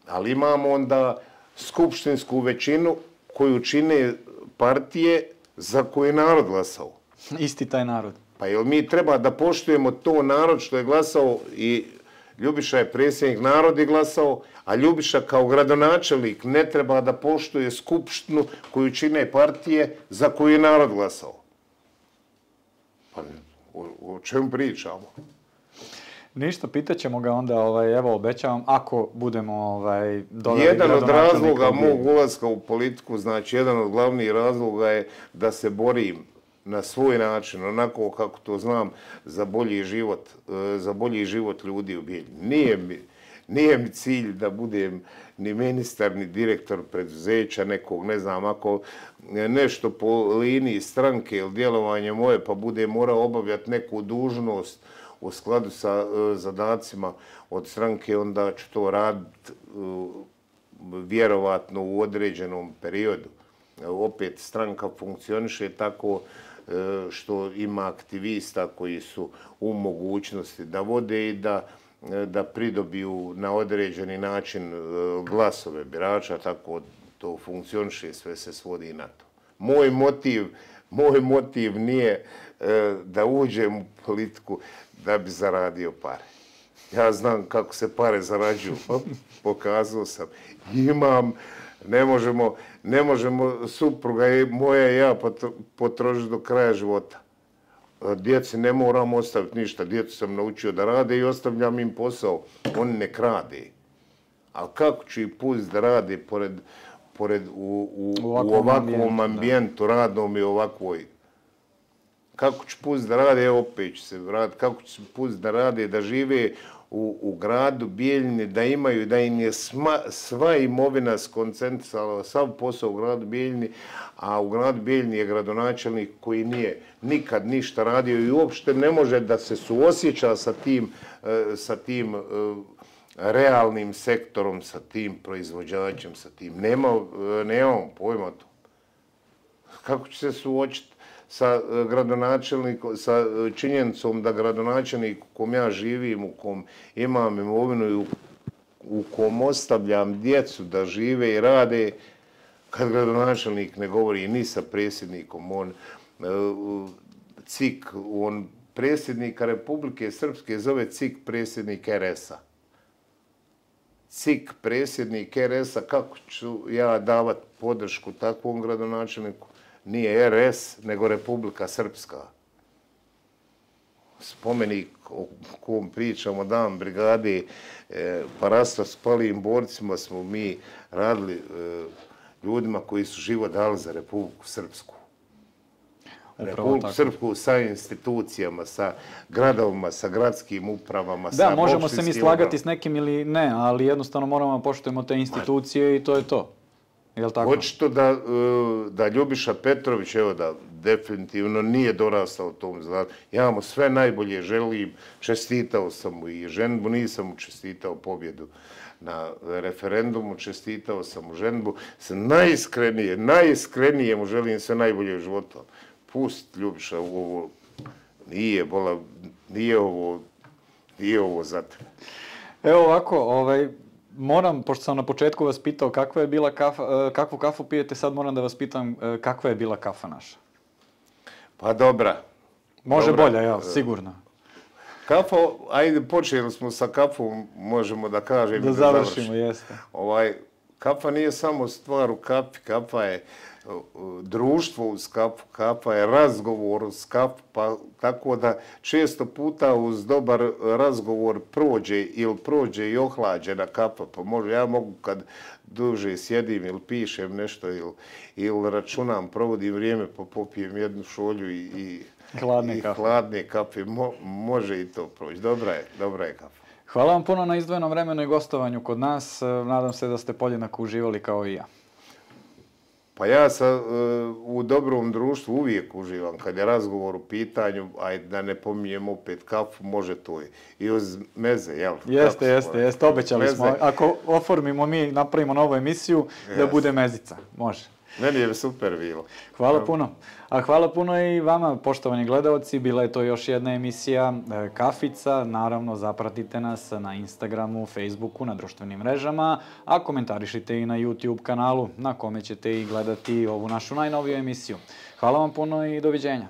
Ali imamo onda skupštinsku većinu koju čine partije za koje je narod glasao. Isti taj narod. Pa jel mi treba da poštujemo to narod što je glasao i Ljubiša je predsjednik, narod je glasao, a Ljubiša kao gradonačelnik ne treba da poštuje skupštinu koju čine partije za koju je narod glasao. Pa o, o čemu pričamo? Ništa, pitaćemo ga onda, ovaj, evo obećavam, ako budemo ovaj, dodali jedan od razloga mog ulaska u politiku, znači jedan od glavnih razloga je da se borim na svoj način, onako kako to znam, za bolji život, za bolji život ljudi u Bijeljini. Nije mi, nije mi cilj da budem ni ministar, ni direktor preduzeća nekog, ne znam, ako nešto po liniji stranke ili djelovanje moje, pa budem morao obavljati neku dužnost u skladu sa zadacima od stranke, onda ću to raditi vjerovatno u određenom periodu. Opet stranka funkcioniše tako što ima aktivista koji su u mogućnosti da vode i da, da pridobiju na određeni način glasove birača, tako to funkcioniše, sve se svodi na to. Moj motiv, moj motiv nije da uđem u politiku da bi zaradio pare. Ja znam kako se pare zarađuju, pokazao sam. Imam, ne možemo, ne možemo supruga moja i ja potrošiti do kraja života. Djeci ne moram ostaviti ništa, djecu sam naučio da rade i ostavljam im posao. Oni ne krade. Ali kako ću ih pustiti da rade pored, pored u, u, u ovakvom ambijentu, radnom i ovakvoj? Kako ću pustiti da rade, evo opet ću se vratiti, kako ću pustiti da rade, da žive u, u gradu Bijeljini, da imaju, da im je sma, sva imovina skoncentrisala, sav posao u gradu Bijeljini, a u gradu Bijeljini je gradonačelnik koji nije nikad ništa radio i uopšte ne može da se suosjeća sa tim, sa tim realnim sektorom, sa tim proizvođačem, sa tim. Nema, nemam pojma to. Kako će se suočiti sa gradonačelnikom, sa činjenicom da gradonačelnik u kom ja živim, u kom imam imovinu i u, u kom ostavljam djecu da žive i rade, kad gradonačelnik ne govori ni sa predsjednikom, on C I K, on predsjednika Republike Srpske zove C I K predsjednik R S-a. C I K predsjednik R S-a, kako ću ja davati podršku takvom gradonačelniku? Nije R S, nego Republika Srpska. Spomenik o kom pričamo, dan brigade Parasta s palijim borcima smo mi radili ljudima koji su život dali za Republiku Srpsku. Republiku Srpsku sa institucijama, sa gradovima, sa gradskim upravama, sa da, možemo se mi slagati s nekim ili ne, ali jednostavno moramo poštujemo te institucije i to je to. Očito da, da Ljubiša Petrović, evo da definitivno nije dorastao tom zlatu. Ja mu sve najbolje želim, čestitao sam mu i ženbu, nisam mu čestitao pobjedu na referendumu, čestitao sam mu ženbu. Najiskrenije, najiskrenije mu želim sve najbolje u životu. Pust Ljubiša u ovo, nije, bola, nije ovo, nije ovo za te. Evo ovako, ovaj, moram, pošto sam na početku vas pitao kakva je bila kafa, kakvu kafu pijete, sad moram da vas pitam kakva je bila kafa naša. Pa dobra. Može dobra. Bolja, ja, sigurno. Kafa, ajde, počeli smo sa kafom, možemo da kažem da, da završimo. završimo. Jeste. Ovaj, kafa nije samo stvar u kafi, kafa je društvo uz kafu, kafa je razgovor uz kafu, pa tako da često puta uz dobar razgovor prođe ili prođe i ohlađena kafa, pa može, ja mogu kad duže sjedim ili pišem nešto ili, ili računam, provodim vrijeme pa popijem jednu šolju i, i, hladne, i kafe. hladne kafe, Mo, može i to proći, dobra je, dobra je kafa. Hvala vam puno na izdvojenom vremenu i gostovanju kod nas, nadam se da ste podjednako uživali kao i ja. Pa ja sam u dobrom društvu uvijek uživam. Kad je razgovor u pitanju, ajde da ne pominjem opet kafu, može to i uz meze, jel? Jeste, jeste, jeste, obećali smo. Ako oformimo mi, napravimo novu emisiju, da bude mezica, može. Meni je super bilo. Hvala puno. A hvala puno i vama, poštovani gledalci. Bila je to još jedna emisija Kafica. Naravno, zapratite nas na Instagramu, Facebooku, na društvenim mrežama, a komentarišite i na YouTube kanalu na kome ćete i gledati ovu našu najnoviju emisiju. Hvala vam puno i doviđenja.